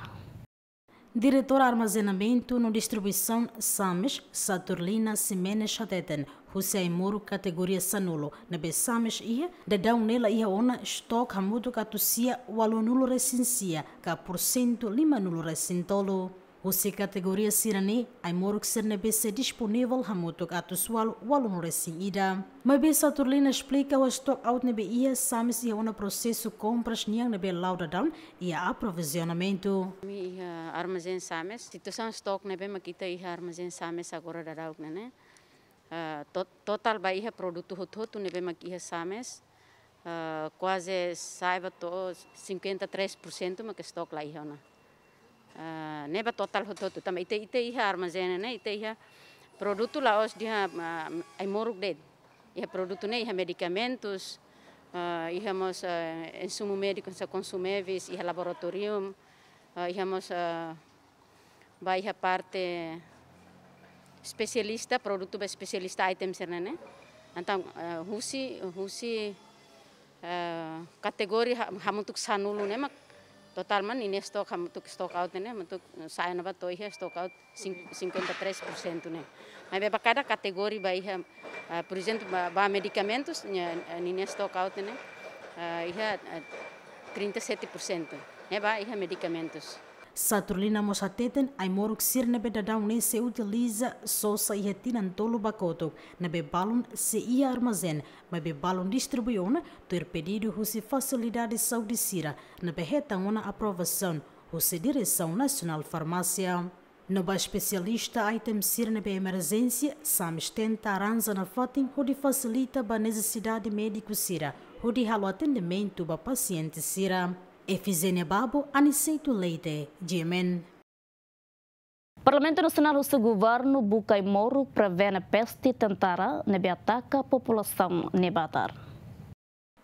Diretór Armazenamentu no Distribuisaun SAMES, Saturnina Ximenes hateten, husi ai-moruk kategoria sanulu ne'ebé SAMES iha, daudaun ne'e la iha ona stok hamutuk atus sia ualunulu resin sia, ka porsentu lima-nulu resin tolu. Husi kategoria sira-ne'e, ai-moruk sira ne'ebé sei disponivel hamutuk atus ualu ualunulu resin ida. Maibé Saturnina esplika, ho stock out ne'ebé iha, SAMES iha ona prosesu kompras nian ne'ebé la'o daudaun iha aprovizionamentu. Ami iha armazén SAMES, situasaun stock ne'ebé mak ita iha armazén SAMES agora daudaun ne'e, ne'e, ah, to-, totál ba iha produtu hotu-hotu ne'ebé mak iha SAMES, ah, kuaze sa'e ba to'o cinquenta e três por cento mak stock la iha ona. Ah, ne'e ba totál hotu-hotu. Tanba ita, ita iha armazén ne'e, ita iha produtu la'ós dehan, ah, ai-moruk de'it. Iha produtu ne'e, iha medikamentus, ah, iha mós, ah, insumu médiku, hanesan konsumevis, iha laboratorium, ah, iha mós, ah, ba iha parte espesialista, produtu ba espesialista item sira-ne'e. Entaun, eh, husi, husi, eh, kategoria ha-, hamutuk sanulu ne'e mak totál mak ninia stok hamutuk stock out ne'e, hamutuk sa'e ona ba to'o iha stock out cin-, cinquenta e três por cento ne'e. Maibé ba kada kategoria ba iha, eh, por ezemplu, ba, ba medikamentus, nia, eh, ninia stock out ne'e, eh, iha, eh, trinta e sete por cento. Ne'e ba iha medikamentus. Saturnina mós hateten, ai-moruk sira ne'ebé daudaun ne'e sei utiliza sosa iha tinan tolu ba kotuk, ne'ebé balun sei iha armazén, maibé balun distribui ona, tuir pedidu husi fasilidade saúde sira, ne'ebé hetan ona aprovasaun husi Diresaun Nasionál Farmásia. No ba espesialista item sira ne'ebé emerjénsia, SAMES tenta arranja nafatin hodi fasilita ba nesesidade médiku sira, hodi halo atendimentu ba pasiente sira. Efizénia Babo, Aniceto Leite, G M N. Parlamentu Nasionál husu governu buka ai-moruk prevene peste tentara ne'ebé ataka populasaun Nebatar.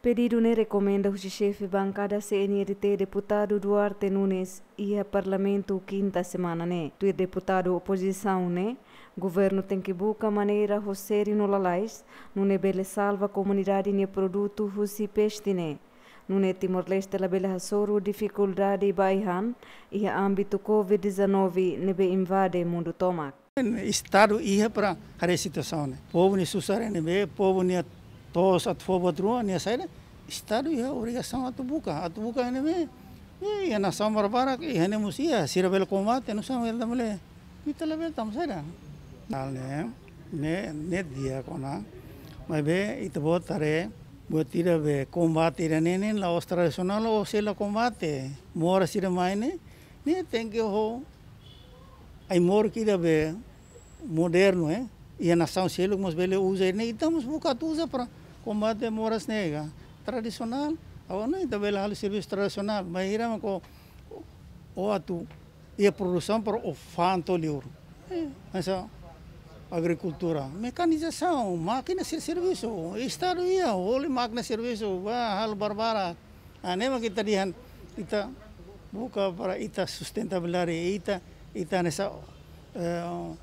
Pedidu ne'e rekomenda husi xefe bankada C N R T, Deputadu Duarte Nunes, iha Parlamentu kinta semana ne'e. Tuir deputadu opozisaun ne'e, governu tenke buka maneira ho sériu no lalais, nune'e bele salva komunidade nia produtu husi peste ne'e. Nune'e Timor-Leste labele hasoru difikuldade ba ai-han iha ámbitu covid dezanove ne'ebé invade mundu tomak. Estadu iha para haree situasaun ne'e. Povu nia susar ne'ebé, povu nia to'os atu fó buat ruma, nia saida. Estadu iha obrigasaun atu buka, atu buka ne'ebé Iha nasaun barbarak, iha ne'e mós iha, sira bele kombate, nu'usá mak ita labele, ita labele tama saida. Hal ne'e, ne'e, ne'e di'ak ona, maibé ita-boot haree, buat ida be kombate ida-ne'e ne'e la'ós tradisionál ou sei la kombate. Moras ida mai ne'e, ne'e tenke ho ai-moruk ida be modernu, eh. Iha nasaun seluk mós bele uza, ne'e ita mós buka atu uza para kombate moras ne'e ka. Tradisionál, agora ne'e ita bele halo servisu tradisionál, maibé ita mak o, o atu iha produsaun para o fa'an to'o liur. Eh, hanesan agrikultura, mekanizasaun, mákina sira servisu, Estadu iha, holi mákina servisu, ba halo barbarak. Ah, ne'e mak ita dehan, ita buka para ita sustentabilidade, ita, ita hanesan, eh,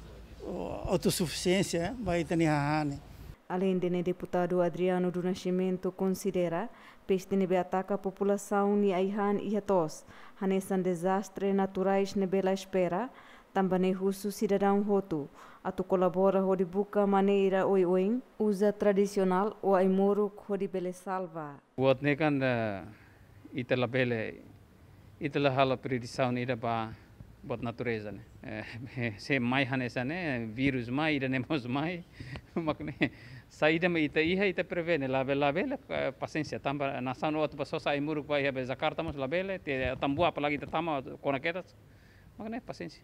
autosufisiénsia, eh, ba ita-nia hahán ne'e. Aleinde ne'e, Deputadu Adriano do Nascimento konsidera peste ne'ebé ataka populasaun nia ai-han iha to'os, hanesan dezastre naturais ne'ebé la espera, tanba ne'e husu sidadaun hotu atu kolabora hodi buka maneira oioin, uza tradisionál ou ai-moruk hodi bele salva. Buat ne'e kan, eh, ita labele, ita la halo predisaun ida ba buat natureza ne'e. Eh, se mai hanesan ne'e, vírus mai, ida-ne'e mós mai. Mak ne'e, saida mak ita iha, ita prevene, labele, labele, eh, pasiénsia, tanba nasaun atu ba sosa ai-moruk ba iha be Jakarta mós labele, te tambua apalagi ita tama kona kedas. Mak ne'e, pasiénsia.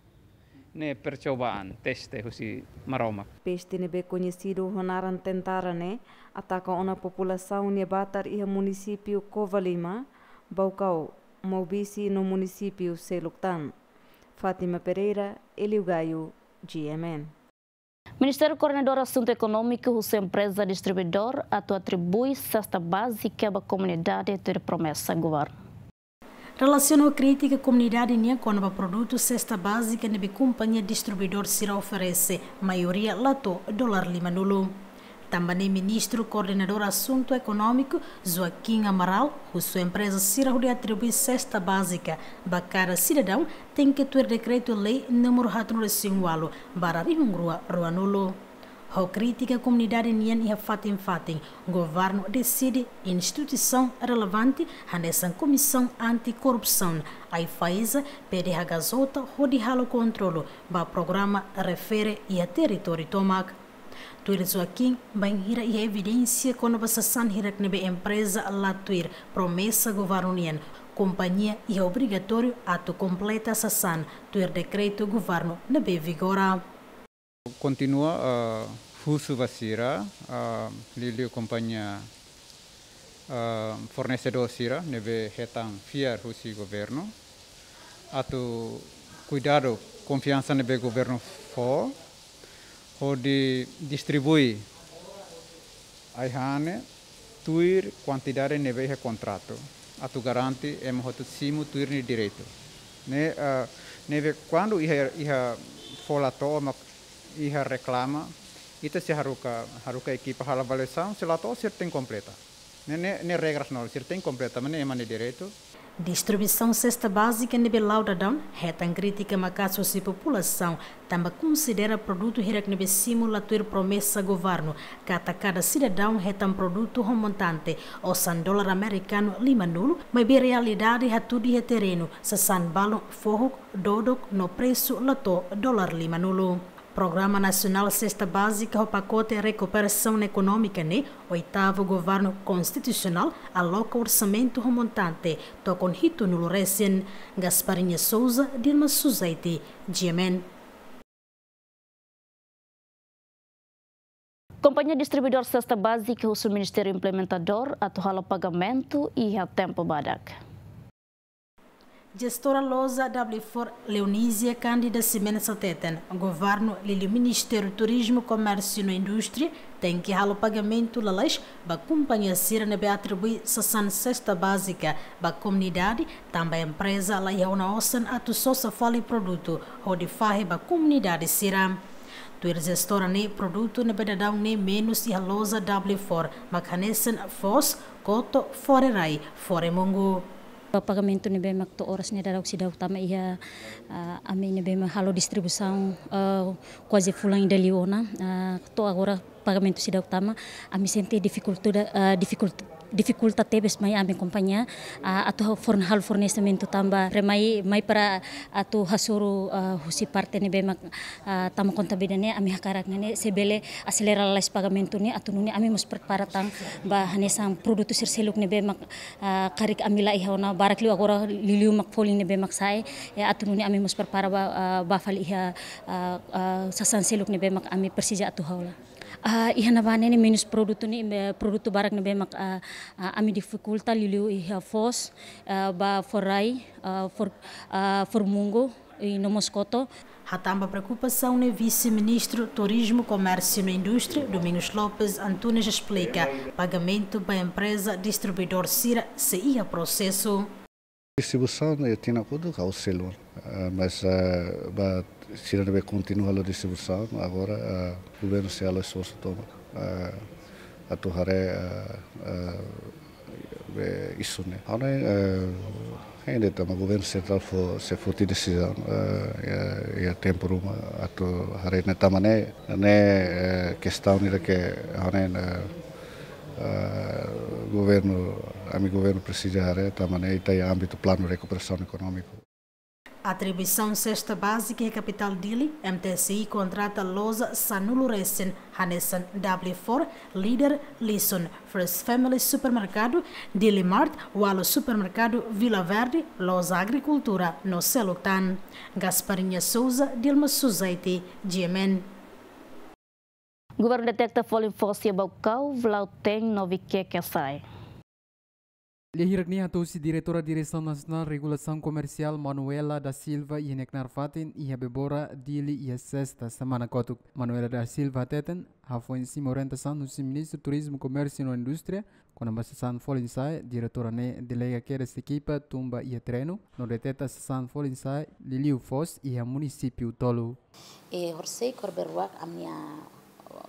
Ne'e percobaan, teste husi Maromak. Peste ne'ebé koñesidu ho naran Tentara ne'e ataka ona populasaun nia batar iha munisípiu Covalima, Baucau, Maubisse no munisípiu seluk tan. Fátima Pereira, Elio Gaio, G M N. Ministériu Koordenadór Asuntu Ekonómiku husu empreza distribuidór atu atribui sesta bázika ba komunidade tuir promesa governu. Relasiona ho krítika komunidade nian kona-ba produtu sesta bázika ne'ebé kompañia distribuidór sira oferese, maioria la to'o dolar limanulu. Tanba ne'e Ministru Koordenadór Asuntu Ekonómiku, Joaquim Amaral, husu empreza sira hodi atribui sesta bázika ba kada sidadaun tenke tuir dekretu-lei númeru haatnulu resin ualu barra rihun rua ruanulu. Ho krítika komunidade nian iha fatin-fatin, governu deside instituisaun relevante hanesan Komisaun Anti-Korrupsaun, AIFAESA, pede HKJ hodi halo kontrolu ba programa refere iha territóriu tomak. Tuir Joaquim, bainhira iha evidénsia kona-ba sasán hirak ne'ebé empreza la tuir promesa governu nian, kompañia iha obrigatóriu atu kompleta sasán tuir dekretu governu ne'ebé vigora. Kontinua, ah, husu ba sira, ah, liuliu kompañia, ah, fornesedór sira ne'ebé hetan fiar husi governu, atu kuidadu konfiansa ne'ebé governu fó, hodi distribui ai-han ne'e tuir kuantidade ne'ebé iha kontratu, atu garante ema hotu simu tuir nia direitu. Ne'e, ah, ne'ebé kuandu iha, iha fó la to'o, mak iha reklama, ita sei haruka, haruka ekipa halo avaliasaun, se la to'o sira tenke kompleta. Ne'e, ne'e, ne'e regras no, sira tenke kompleta, maibé ne'e ema nia direitu. Distribuisaun sesta bázika ne'ebé la'o daudaun hetan krítika maka'as husi populasaun, tanba konsidera produtu hirak ne'ebé simu la tuir promesa governu, katak kada sidadaun hetan produtu ho montante osan dolar amerikanu limanulu, maibé realidade hatudu iha terrenu, sasán balun fohok, dodok no presu la to'o dolar limanulu. Programa Nasionál Sesta Bázika ho pakote rekuperasaun ekonómika ne'e, oitavu governu konstitusionál aloka orsamentu ho montante tokon hitunulu resin. Gasparinha Souza, Dilma Suzaiti, G M N. Kompañia distribuidór sesta bázika husu Ministériu Implementadór atu halo pagamentu iha tempu badak. Jestora loja W four Leonísia Cândida Ximenes hateten, governu liuliu Ministériu Turizmu, Komérsiu no Indústria tenke halo pagamentu lalais ba kompañia sira ne'ebé atribui sasán sesta bázika ba komunidade, tanba empreza la iha ona osan atu sosa fali produtu hodi fahe ba komunidade sira. Tuir jestora ne'e, produtu ne'ebé daudaun ne'e menus iha loja W four, mak hanesan foos, koto, fore-rai, fore-mungu. Pagamentu ne'ebé mak to'o oras ne'e daudaun seidauk tama iha, ah, ami ne'ebé mak halo distribuisaun, ah, kuaze fulan ida liu ona, ah, to'o agora pagamentu seidauk tama, ami sente difikultuda-, ah, difikultu-, Difikulta tebes mai ami kompañia, ah, atu forn-, halo fornesimentu tanba remai mai para atu hasoru, ah, husi parte ne'ebé mak, ah, tama konta bida ne'e ami hakarak ne'e se bele aselera lalais pagamentu ne'e atu nune'e ami mós prepara tan ba hanesan produtu sira seluk ne'ebé mak, ah, karik ami la iha ona barak liu agora liuliu mak folin ne'ebé mak sa'e, eh, atu nune'e ami mós prepara ba, ah, ba fali iha, ah, ah, sasán seluk ne'ebé mak ami presiza atu hola. Ah, iha ne'ebá ne'e menus produtu ne'e, eh, produtu barak ne'ebé mak, ah, ah, ami difikulta liuliu iha foos, ah, ba fó rai, ah, fó, ah, fó mungu, i no mós koto. Hatán ba preokupasaun ne'e Vise-Ministru Turizmu, Komérsiu no Indústria, Domingos Lopes Antunes esplika, pagamentu ba empreza distribuidór sira sei iha prosesu. Distribuisaun iha tinan kotuk ha'u selu, eh, mas, eh, ba sira ne'ebé kontinua halo distribuisaun, agora, eh, governu sei halo esforsu tomak, eh, atu haree, eh, eh, be isu ne'e. Ha'u hanoin, eh, hein de'it tanba governu sentrál fó, sei foti desizaun, eh, iha, iha tempu ruma atu haree ne'e tanba ne'e, ne'e, eh, kestaun ida ke ha'u hanoin, eh, eh, governu, ami governu presiza haree tanba ne'e ita iha ámbitu planu rekuperasaun ekonómiku. Atribuisaun sesta bázika iha kapitál Dili, M T S I kontrata loja sanulu resin, hanesan W Four, Leader, Lison, First Family Supermerkadu, Dili Mart, Walu Supermerkadu, Vila Verde, Loja Agrikultura no seluk tan. Gasparinha Souza, Dilma Suzaiti, G M N. Governu detekta folin foos iha Baucau, Vlautém no Viqueque sa'e. Lia hirak-ne'e hato'o husi Diretora Diresaun Nasionál Regulasaun Komersiál Manuela da Silva iha nia knaar fatin iha Bebora, Dili iha sesta semana kotuk. Manuela da Silva hateten, hafoin simu orientasaun husi Ministru Turizmu, Komérsiu no Indústria kona-ba sasán folin sa'e, diretora ne'e delega kedas ekipa tun ba iha terrenu no deteta sasán folin sa'e, liuliu foos iha munisípiu tolu. E horisehik, horibainrua ami-nia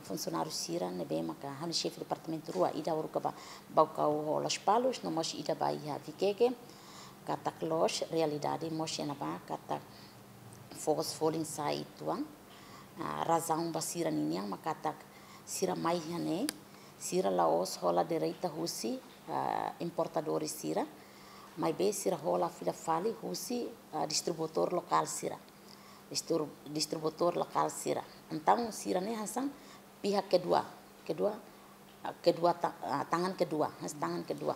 funsionáriu sira ne'ebé maka ha'u-nia xefe departamentu rua, ida haruka ba Baucau ho Lospalos, no mós ida ba iha Viqueque, katak loos, realidade mós iha ne'ebá, katak foos folin sa'e uitoan. Ah, razaun ba sira ninian mak katak sira mai iha ne'e, sira la'ós hola direta husi, ah, importadores sira, maibé sira hola fila fali husi, ah, distribuidór lokál sira. Distru-, distribuidór lokál sira. Entaun sira ne'e hanesan pihak kedua, kedua, ah, kedua ta-, ah, tangan kedua, hanesan tangan kedua.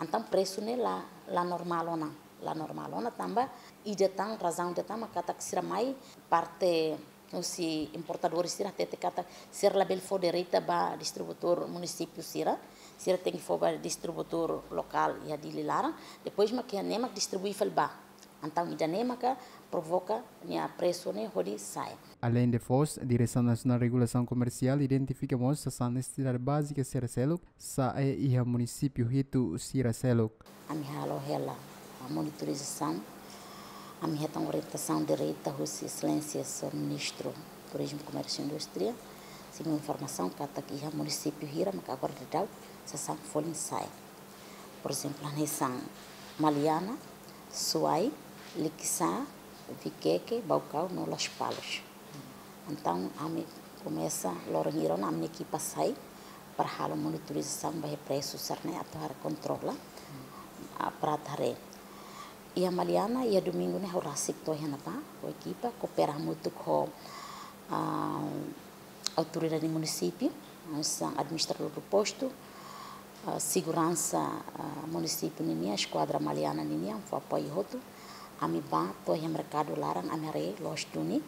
Entaun presu ne'e la, la normál ona, la normál ona tanba ida tan, razaun ida tan mak katak sira mai parte husi importadores sira hatete katak sira labele fó direta ba distribuidór munisípiu sira, sira tenke fó ba distribuidór lokál iha Dili laran, depois mak iha ne'e mak distribui fali ba. Entaun ida-ne'e maka provoka nia presu ne'e hodi sa'e. Aleinde foos, Diresaun Nasionál Regulasaun Komersiál identifika mós sasán nesesidade bázika sira seluk sa'e iha munisípiu hitu sira seluk. Ami halo hela, ah, monitorizasaun. Ami hetan orientasaun direta husi Exelénsia Señór Ministru Turizmu, Komérsiu no Indústria. Simu informasaun katak iha munisípiu hira maka agora daudaun sasán folin sa'e. Por ezemplu, hanesan Maliana, Suai, Likisá, Viqueque, Baucau no Lospalos. Entaun ami komesa loron hira ona ami-nia ekipa sai para halo monitorizasaun ba iha presu sira-ne'e atu halo kontrola, ah, para atu haree. Iha Maliana, iha domingu ne'e ha'u rasik to'o iha ne'ebá, ho ekipa, koopera hamutuk ho, ah, autoridade munisípiu, hanesan administradór do postu, ah, seguransa, ah, munisípiu ninian, eskuadra Maliana ninian, fó apoiu hotu. Ami bá to'o iha merkadu laran, ami haree loos duni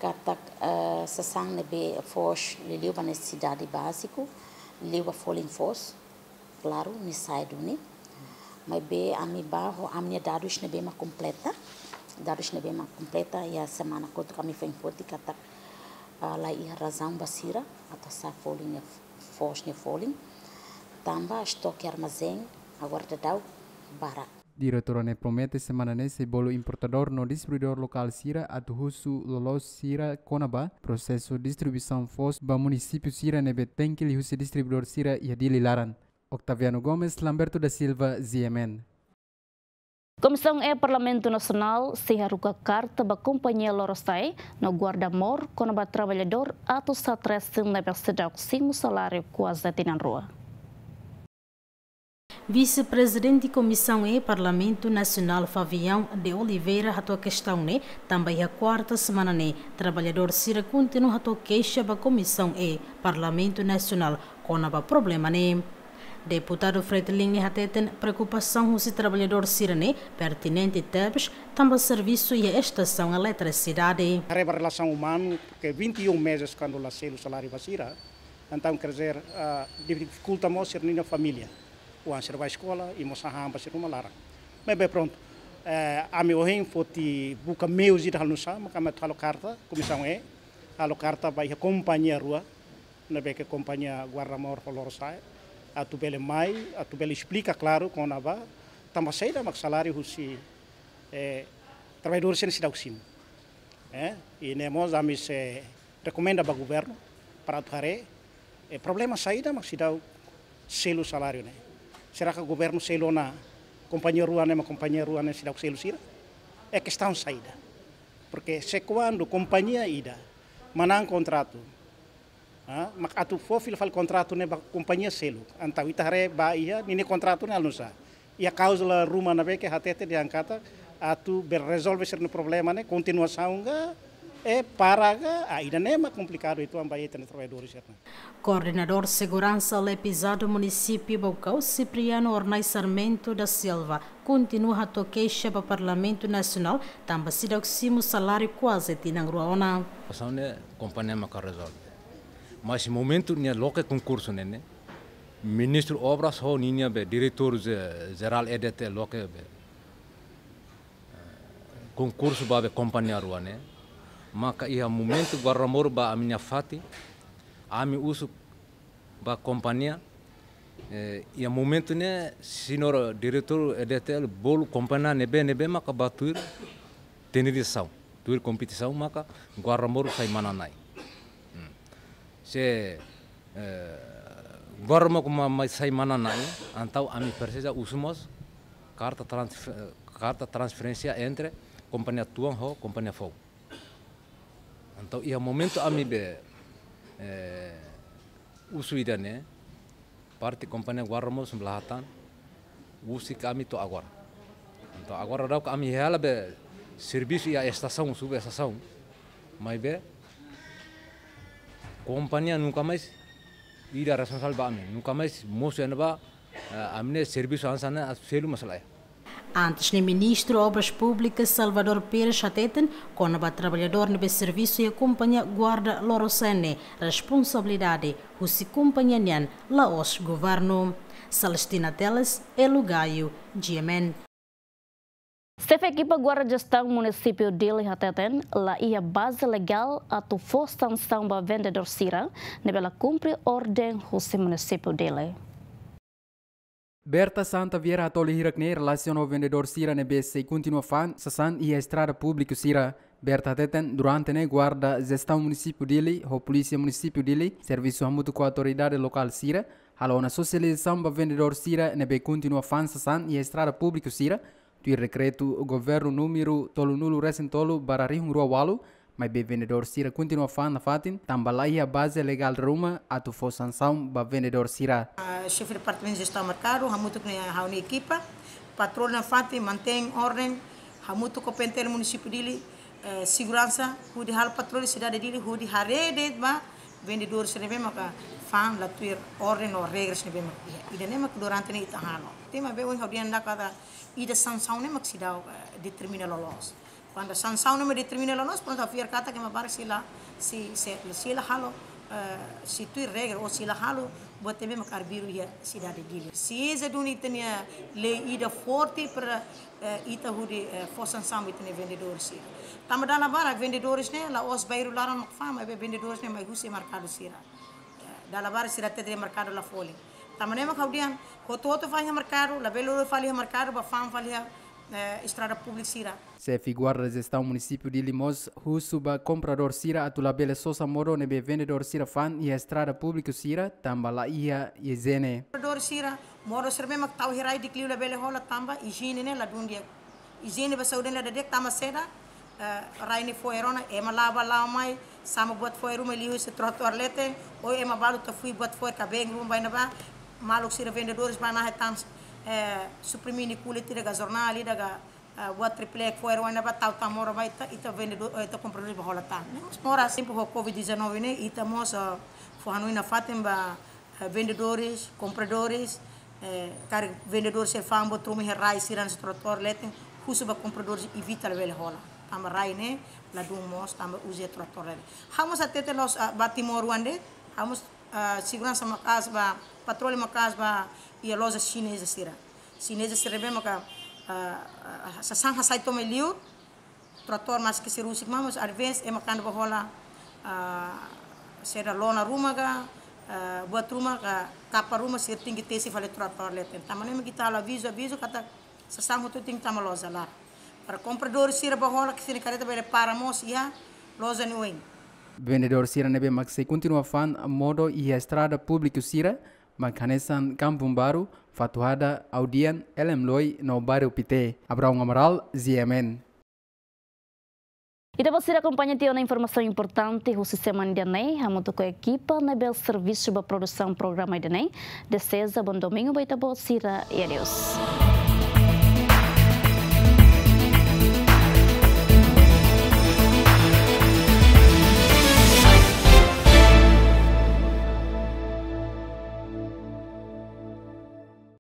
katak, ah, sasán ne'ebé foos liuliu ba nesesidade báziku, liuliu ba folin foos, klaru, nia sa'e duni. Maibé ami bá ho ami-nia dadus ne'ebé mak kompleta. Dadus ne'ebé mak kompleta, iha semana kotuk ami foin foti katak, ah, la iha razaun ba sira atu hasa'e folin nia, foos nia folin. Tanba estoke armazén agora daudaun barak. Diretora ne'e promete semana ne'e sei bolu importadór no distribuidór lokál sira atu husu loloos sira kona-ba prosesu distribuisaun foos ba munisípiu sira ne'ebé tenke liuhusi distribuidór sira iha Dili laran. Octaviano Gomes, Lamberto da Silva, G M N. Komisaun E Parlamentu Nasionál sei haruka karta ba kompañia Lorosa'e no Guarda Mor kona-ba traballadór atus haat resin ne'ebé seidauk simu saláriu kuaze tinan rua. Vise-Prezidente Komisaun E Parlamentu Nasionál Fabião de Oliveira hato'o kestaun ne'e, tanba iha kuarta semana ne'e, traballadór sira kontinua hato'o keixa ba Komisaun E Parlamentu Nasionál kona-ba problema ne'e. Deputadu Fretilin ne'e hateten preokupasaun husi traballadór sira ne'e pertinente tebes, tanba servisu iha estasaun eletrisidade. Haree ba relasaun umanu, porque vinte e um meses kuandu la selu saláriu ba sira, entaun, quer dizer, ah, difikulta mós sira-nia família. Oan sira bá eskola, i mós hahán ba sira-nia uma laran. Maibé prontu, eh, ami ohin foti buka meius ida halo nusá, maka ami halo karta, Komisaun E, halo karta ba iha kompañia rua, ne'ebé ke kompañia Guarda Mor ho Lorosa'e, atu bele mai, atu bele esplika klaru kona-ba tanba saida mak saláriu husi, eh, traballadór sira seidauk simu. Eh, i ne'e mós ami sei rekomenda ba governu para atu haree, eh, problema saida mak seidauk selu saláriu ne'e. Será ke governu selu ona kompañia rua ne'e, mak kompañia rua ne'e seidauk selu sira? É kestaun saida? Porque se kuandu kompañia ida manán kontratu, ah, mak atu fó fila fali kontratu ne'e ba kompañia seluk. Entaun ita haree ba iha ninia kontratu ne'e halo nusá. Iha kláuzula ruma ne'ebé ke hatete dehan katak atu bele rezolve sira-nia problema ne'e, kontinuasaun ka, eh, para ka, ah, ida-ne'e mak komplikadu uitoan ba ita-nia traballadór sira-ne'e. Koordenadór Seguransa Lepizado Munisípiu Baucau, Cipriano Ornai Sarmento da Silva, kontinua hato'o keixa ba Parlamentu Nasionál, tanba seidauk simu saláriu kuaze tinan rua ona. Situasaun ne'e kompañia maka rezolve. Mas momentu nia loke konkursu ne'e ne'e, Ministru Obras ho ninia be diretór ze-, jerál E D T L loke be, eh, konkursu ba be kompañia rua ne'e. Maka iha momentu Guarda Mor ba ami-nia fatin, ami husu ba kompañia, eh, iha momentu ne'e, señór diretór E D T L bolu kompañia ne'ebé-ne'ebé maka bá tuir tenderizasaun, tuir kompetisaun maka Guarda Mor sai manán-na'in. Hmm. Se, eh, Guarda Mor ko ma-, mai sai manán-na'in, entaun ami presiza husu mós karta transfe-, karta transferénsia entre kompañia tuan ho kompañia foun. Entaun, iha momentu ami be, eh, husu ida-ne'e, parte kompañia Guarda Mor sumbu la hatán, husik ami to'o agora. Entaun, agora daudauk ami hela be servisu iha estasaun, sub-estasaun. Maibé kompañia nunka mais ida responsavel ba ami, nunka mais mosu iha ne'ebá, eh, ami-nia servisu hanesan ne'e atu selu mós lae. Antes ne'e, Ministru Obras Públikas Salvador Pires hateten, kona-ba traballadór ne'ebé servisu iha kompañia Guarda Lorosa'e ne'e, responsabilidade husi kompañia nian, la'ós governu. Celestina Teles, Elo Gayo, G M N. Xefe ekipa Guarda Jestaun Munisípiu Dili hateten, la iha baze legál atu fó sansaun ba vendedór sira ne'ebé la kumpre orden husi Munisípiu Dili. Berta Santa Vieira hatoli hirak-ne'e relasiona ho vendedór sira ne'ebé sei kontinua fa'an sasán iha estrada públiku sira. Berta hateten, durante ne'e Guarda Jestaun Munisípiu Dili ho Polísia Munisípiu Dili servisu hamutuk ho autoridade lokál sira, halo ona sosializasaun ba vendedór sira ne'ebé kontinua fa'an sasán iha estrada públiku sira, tuir dekretu governu númeru tolunulu resin tolu barra rihun rua ualu, maibé vendedór sira kontinua fa'an nafatin, tanba la iha baze legál ruma atu fó sansaun ba vendedór sira. Ah, Xefe Departamentu Jestaun Merkadu, hamutuk ho ha'u-nia ekipa, patroli nafatin, mantein orden, hamutuk ho P N T L Munisípiu Dili, eh, seguransa, hodi halo patroli sidade Dili, hodi haree de'it ba vendedór sira ne'ebé maka fa'an la tuir orden no regras ne'ebé maka iha. Ida-ne'e maka durante ne'e ita halo. Tanba be ohin ha'u dehan katak ida sansaun ne'e mak seidauk, eh, determina loloos. Kuandu sansaun ne'e mak determina loloos, prontu, ha'u fiar katak ema barak sei la, sei, sei, sei la halo, eh, sei tuir regra ou sei la halo buat ne'ebé mak arbiru iha sidade Dili. Sei eza duni ita-nia lei ida forte para, eh, ita hodi, eh, fó sansaun ba ita-nia vendedór sira. Tanba dala barak vendedores ne'e la'ós bairru laran mak fa'an, maibé vendedores ne'e mai husi merkadu sira. Dala barak sira hatete merkadu la folin. Tanba ne'e mak ha'u dehan, hotu-hotu fa'an iha merkadu, labele lori fali iha merkadu, bá fa'an fali iha, eh, estrada públiku sira. Xefe Guarda Jestaun Munisípiu Dili mós husu ba kompradór sira atu labele sosa modo ne'ebé vendedór sira fa'an iha estrada públiku sira, tanba la iha ijiene. Kompradór sira, modo sira ne'ebé mak tau iha rai di'ak liu labele hola tanba ijiene ne'e la dún di'ak. Ijiene ba saúde ne'e la di'ak tanba saida, eh, rai ne'e fo'er ona, ema la'o bá la'o mai, sama buat fo'er ruma liuhusi trotoar leten, ou ema balu tafui buat fo'er kabeing ruma ba iha ne'ebá, maluk sira vendedores bá nahe tan, eh, suprimi nia kulit ida ka jornál ida ka, eh, buat triple foer wan ba tau tau moro ba ita, ita vendedór, eh, ita kompradór ba hola tan. Ne'e mós moras tempu ho covid dezanove ne'e, ita mós, eh, fó hanoin nafatin ba, eh, vendedores, compradores, eh, karik vendedór sira fa'an buat ruma iha rai sira-nia tratór leten, husu ba compradores evita labele hola. Tanba rai ne'e ladún moos, tanba uza tratór leten. Ha'u mós hatete loos, ah, ba Timor oan de'it, ha'u mós, ah, seguransa maka'as ba, patrulha maka'as ba iha loja xineza sira. Xineza sira ne'ebé maka, ah, ah, sasán hasai to'o mai liur, tratór maski sira husik maibé, às vezes, ema kuandu ba hola, ah, sira lona ruma ka, ah, buat ruma ka, kapa ruma sira tenke tesi fali tratór leten. Tanba ne'e mak ita halo avizu, avizu katak sasán hotu tenke tama loja laran. Para kompradór sira ba hola, ke sira-nia kareta bele para mós iha loja nia oin. Vendedór sira ne'ebé mak sei kontinua fa'an modo iha estrada públiku sira, mak hanesan Kampung Baru, Fatuhada, Audian, Elem Loi, no Bairru Pité. Abraão Amaral, G M N. Ita-boot sira akompaña tiha ona informasaun importante husi semana ida-ne'e, hamutuk ho ekipa ne'ebé servisu ba produsaun programa ida-ne'e. Deseja bom domingu ba ita-boot sira, e adeus.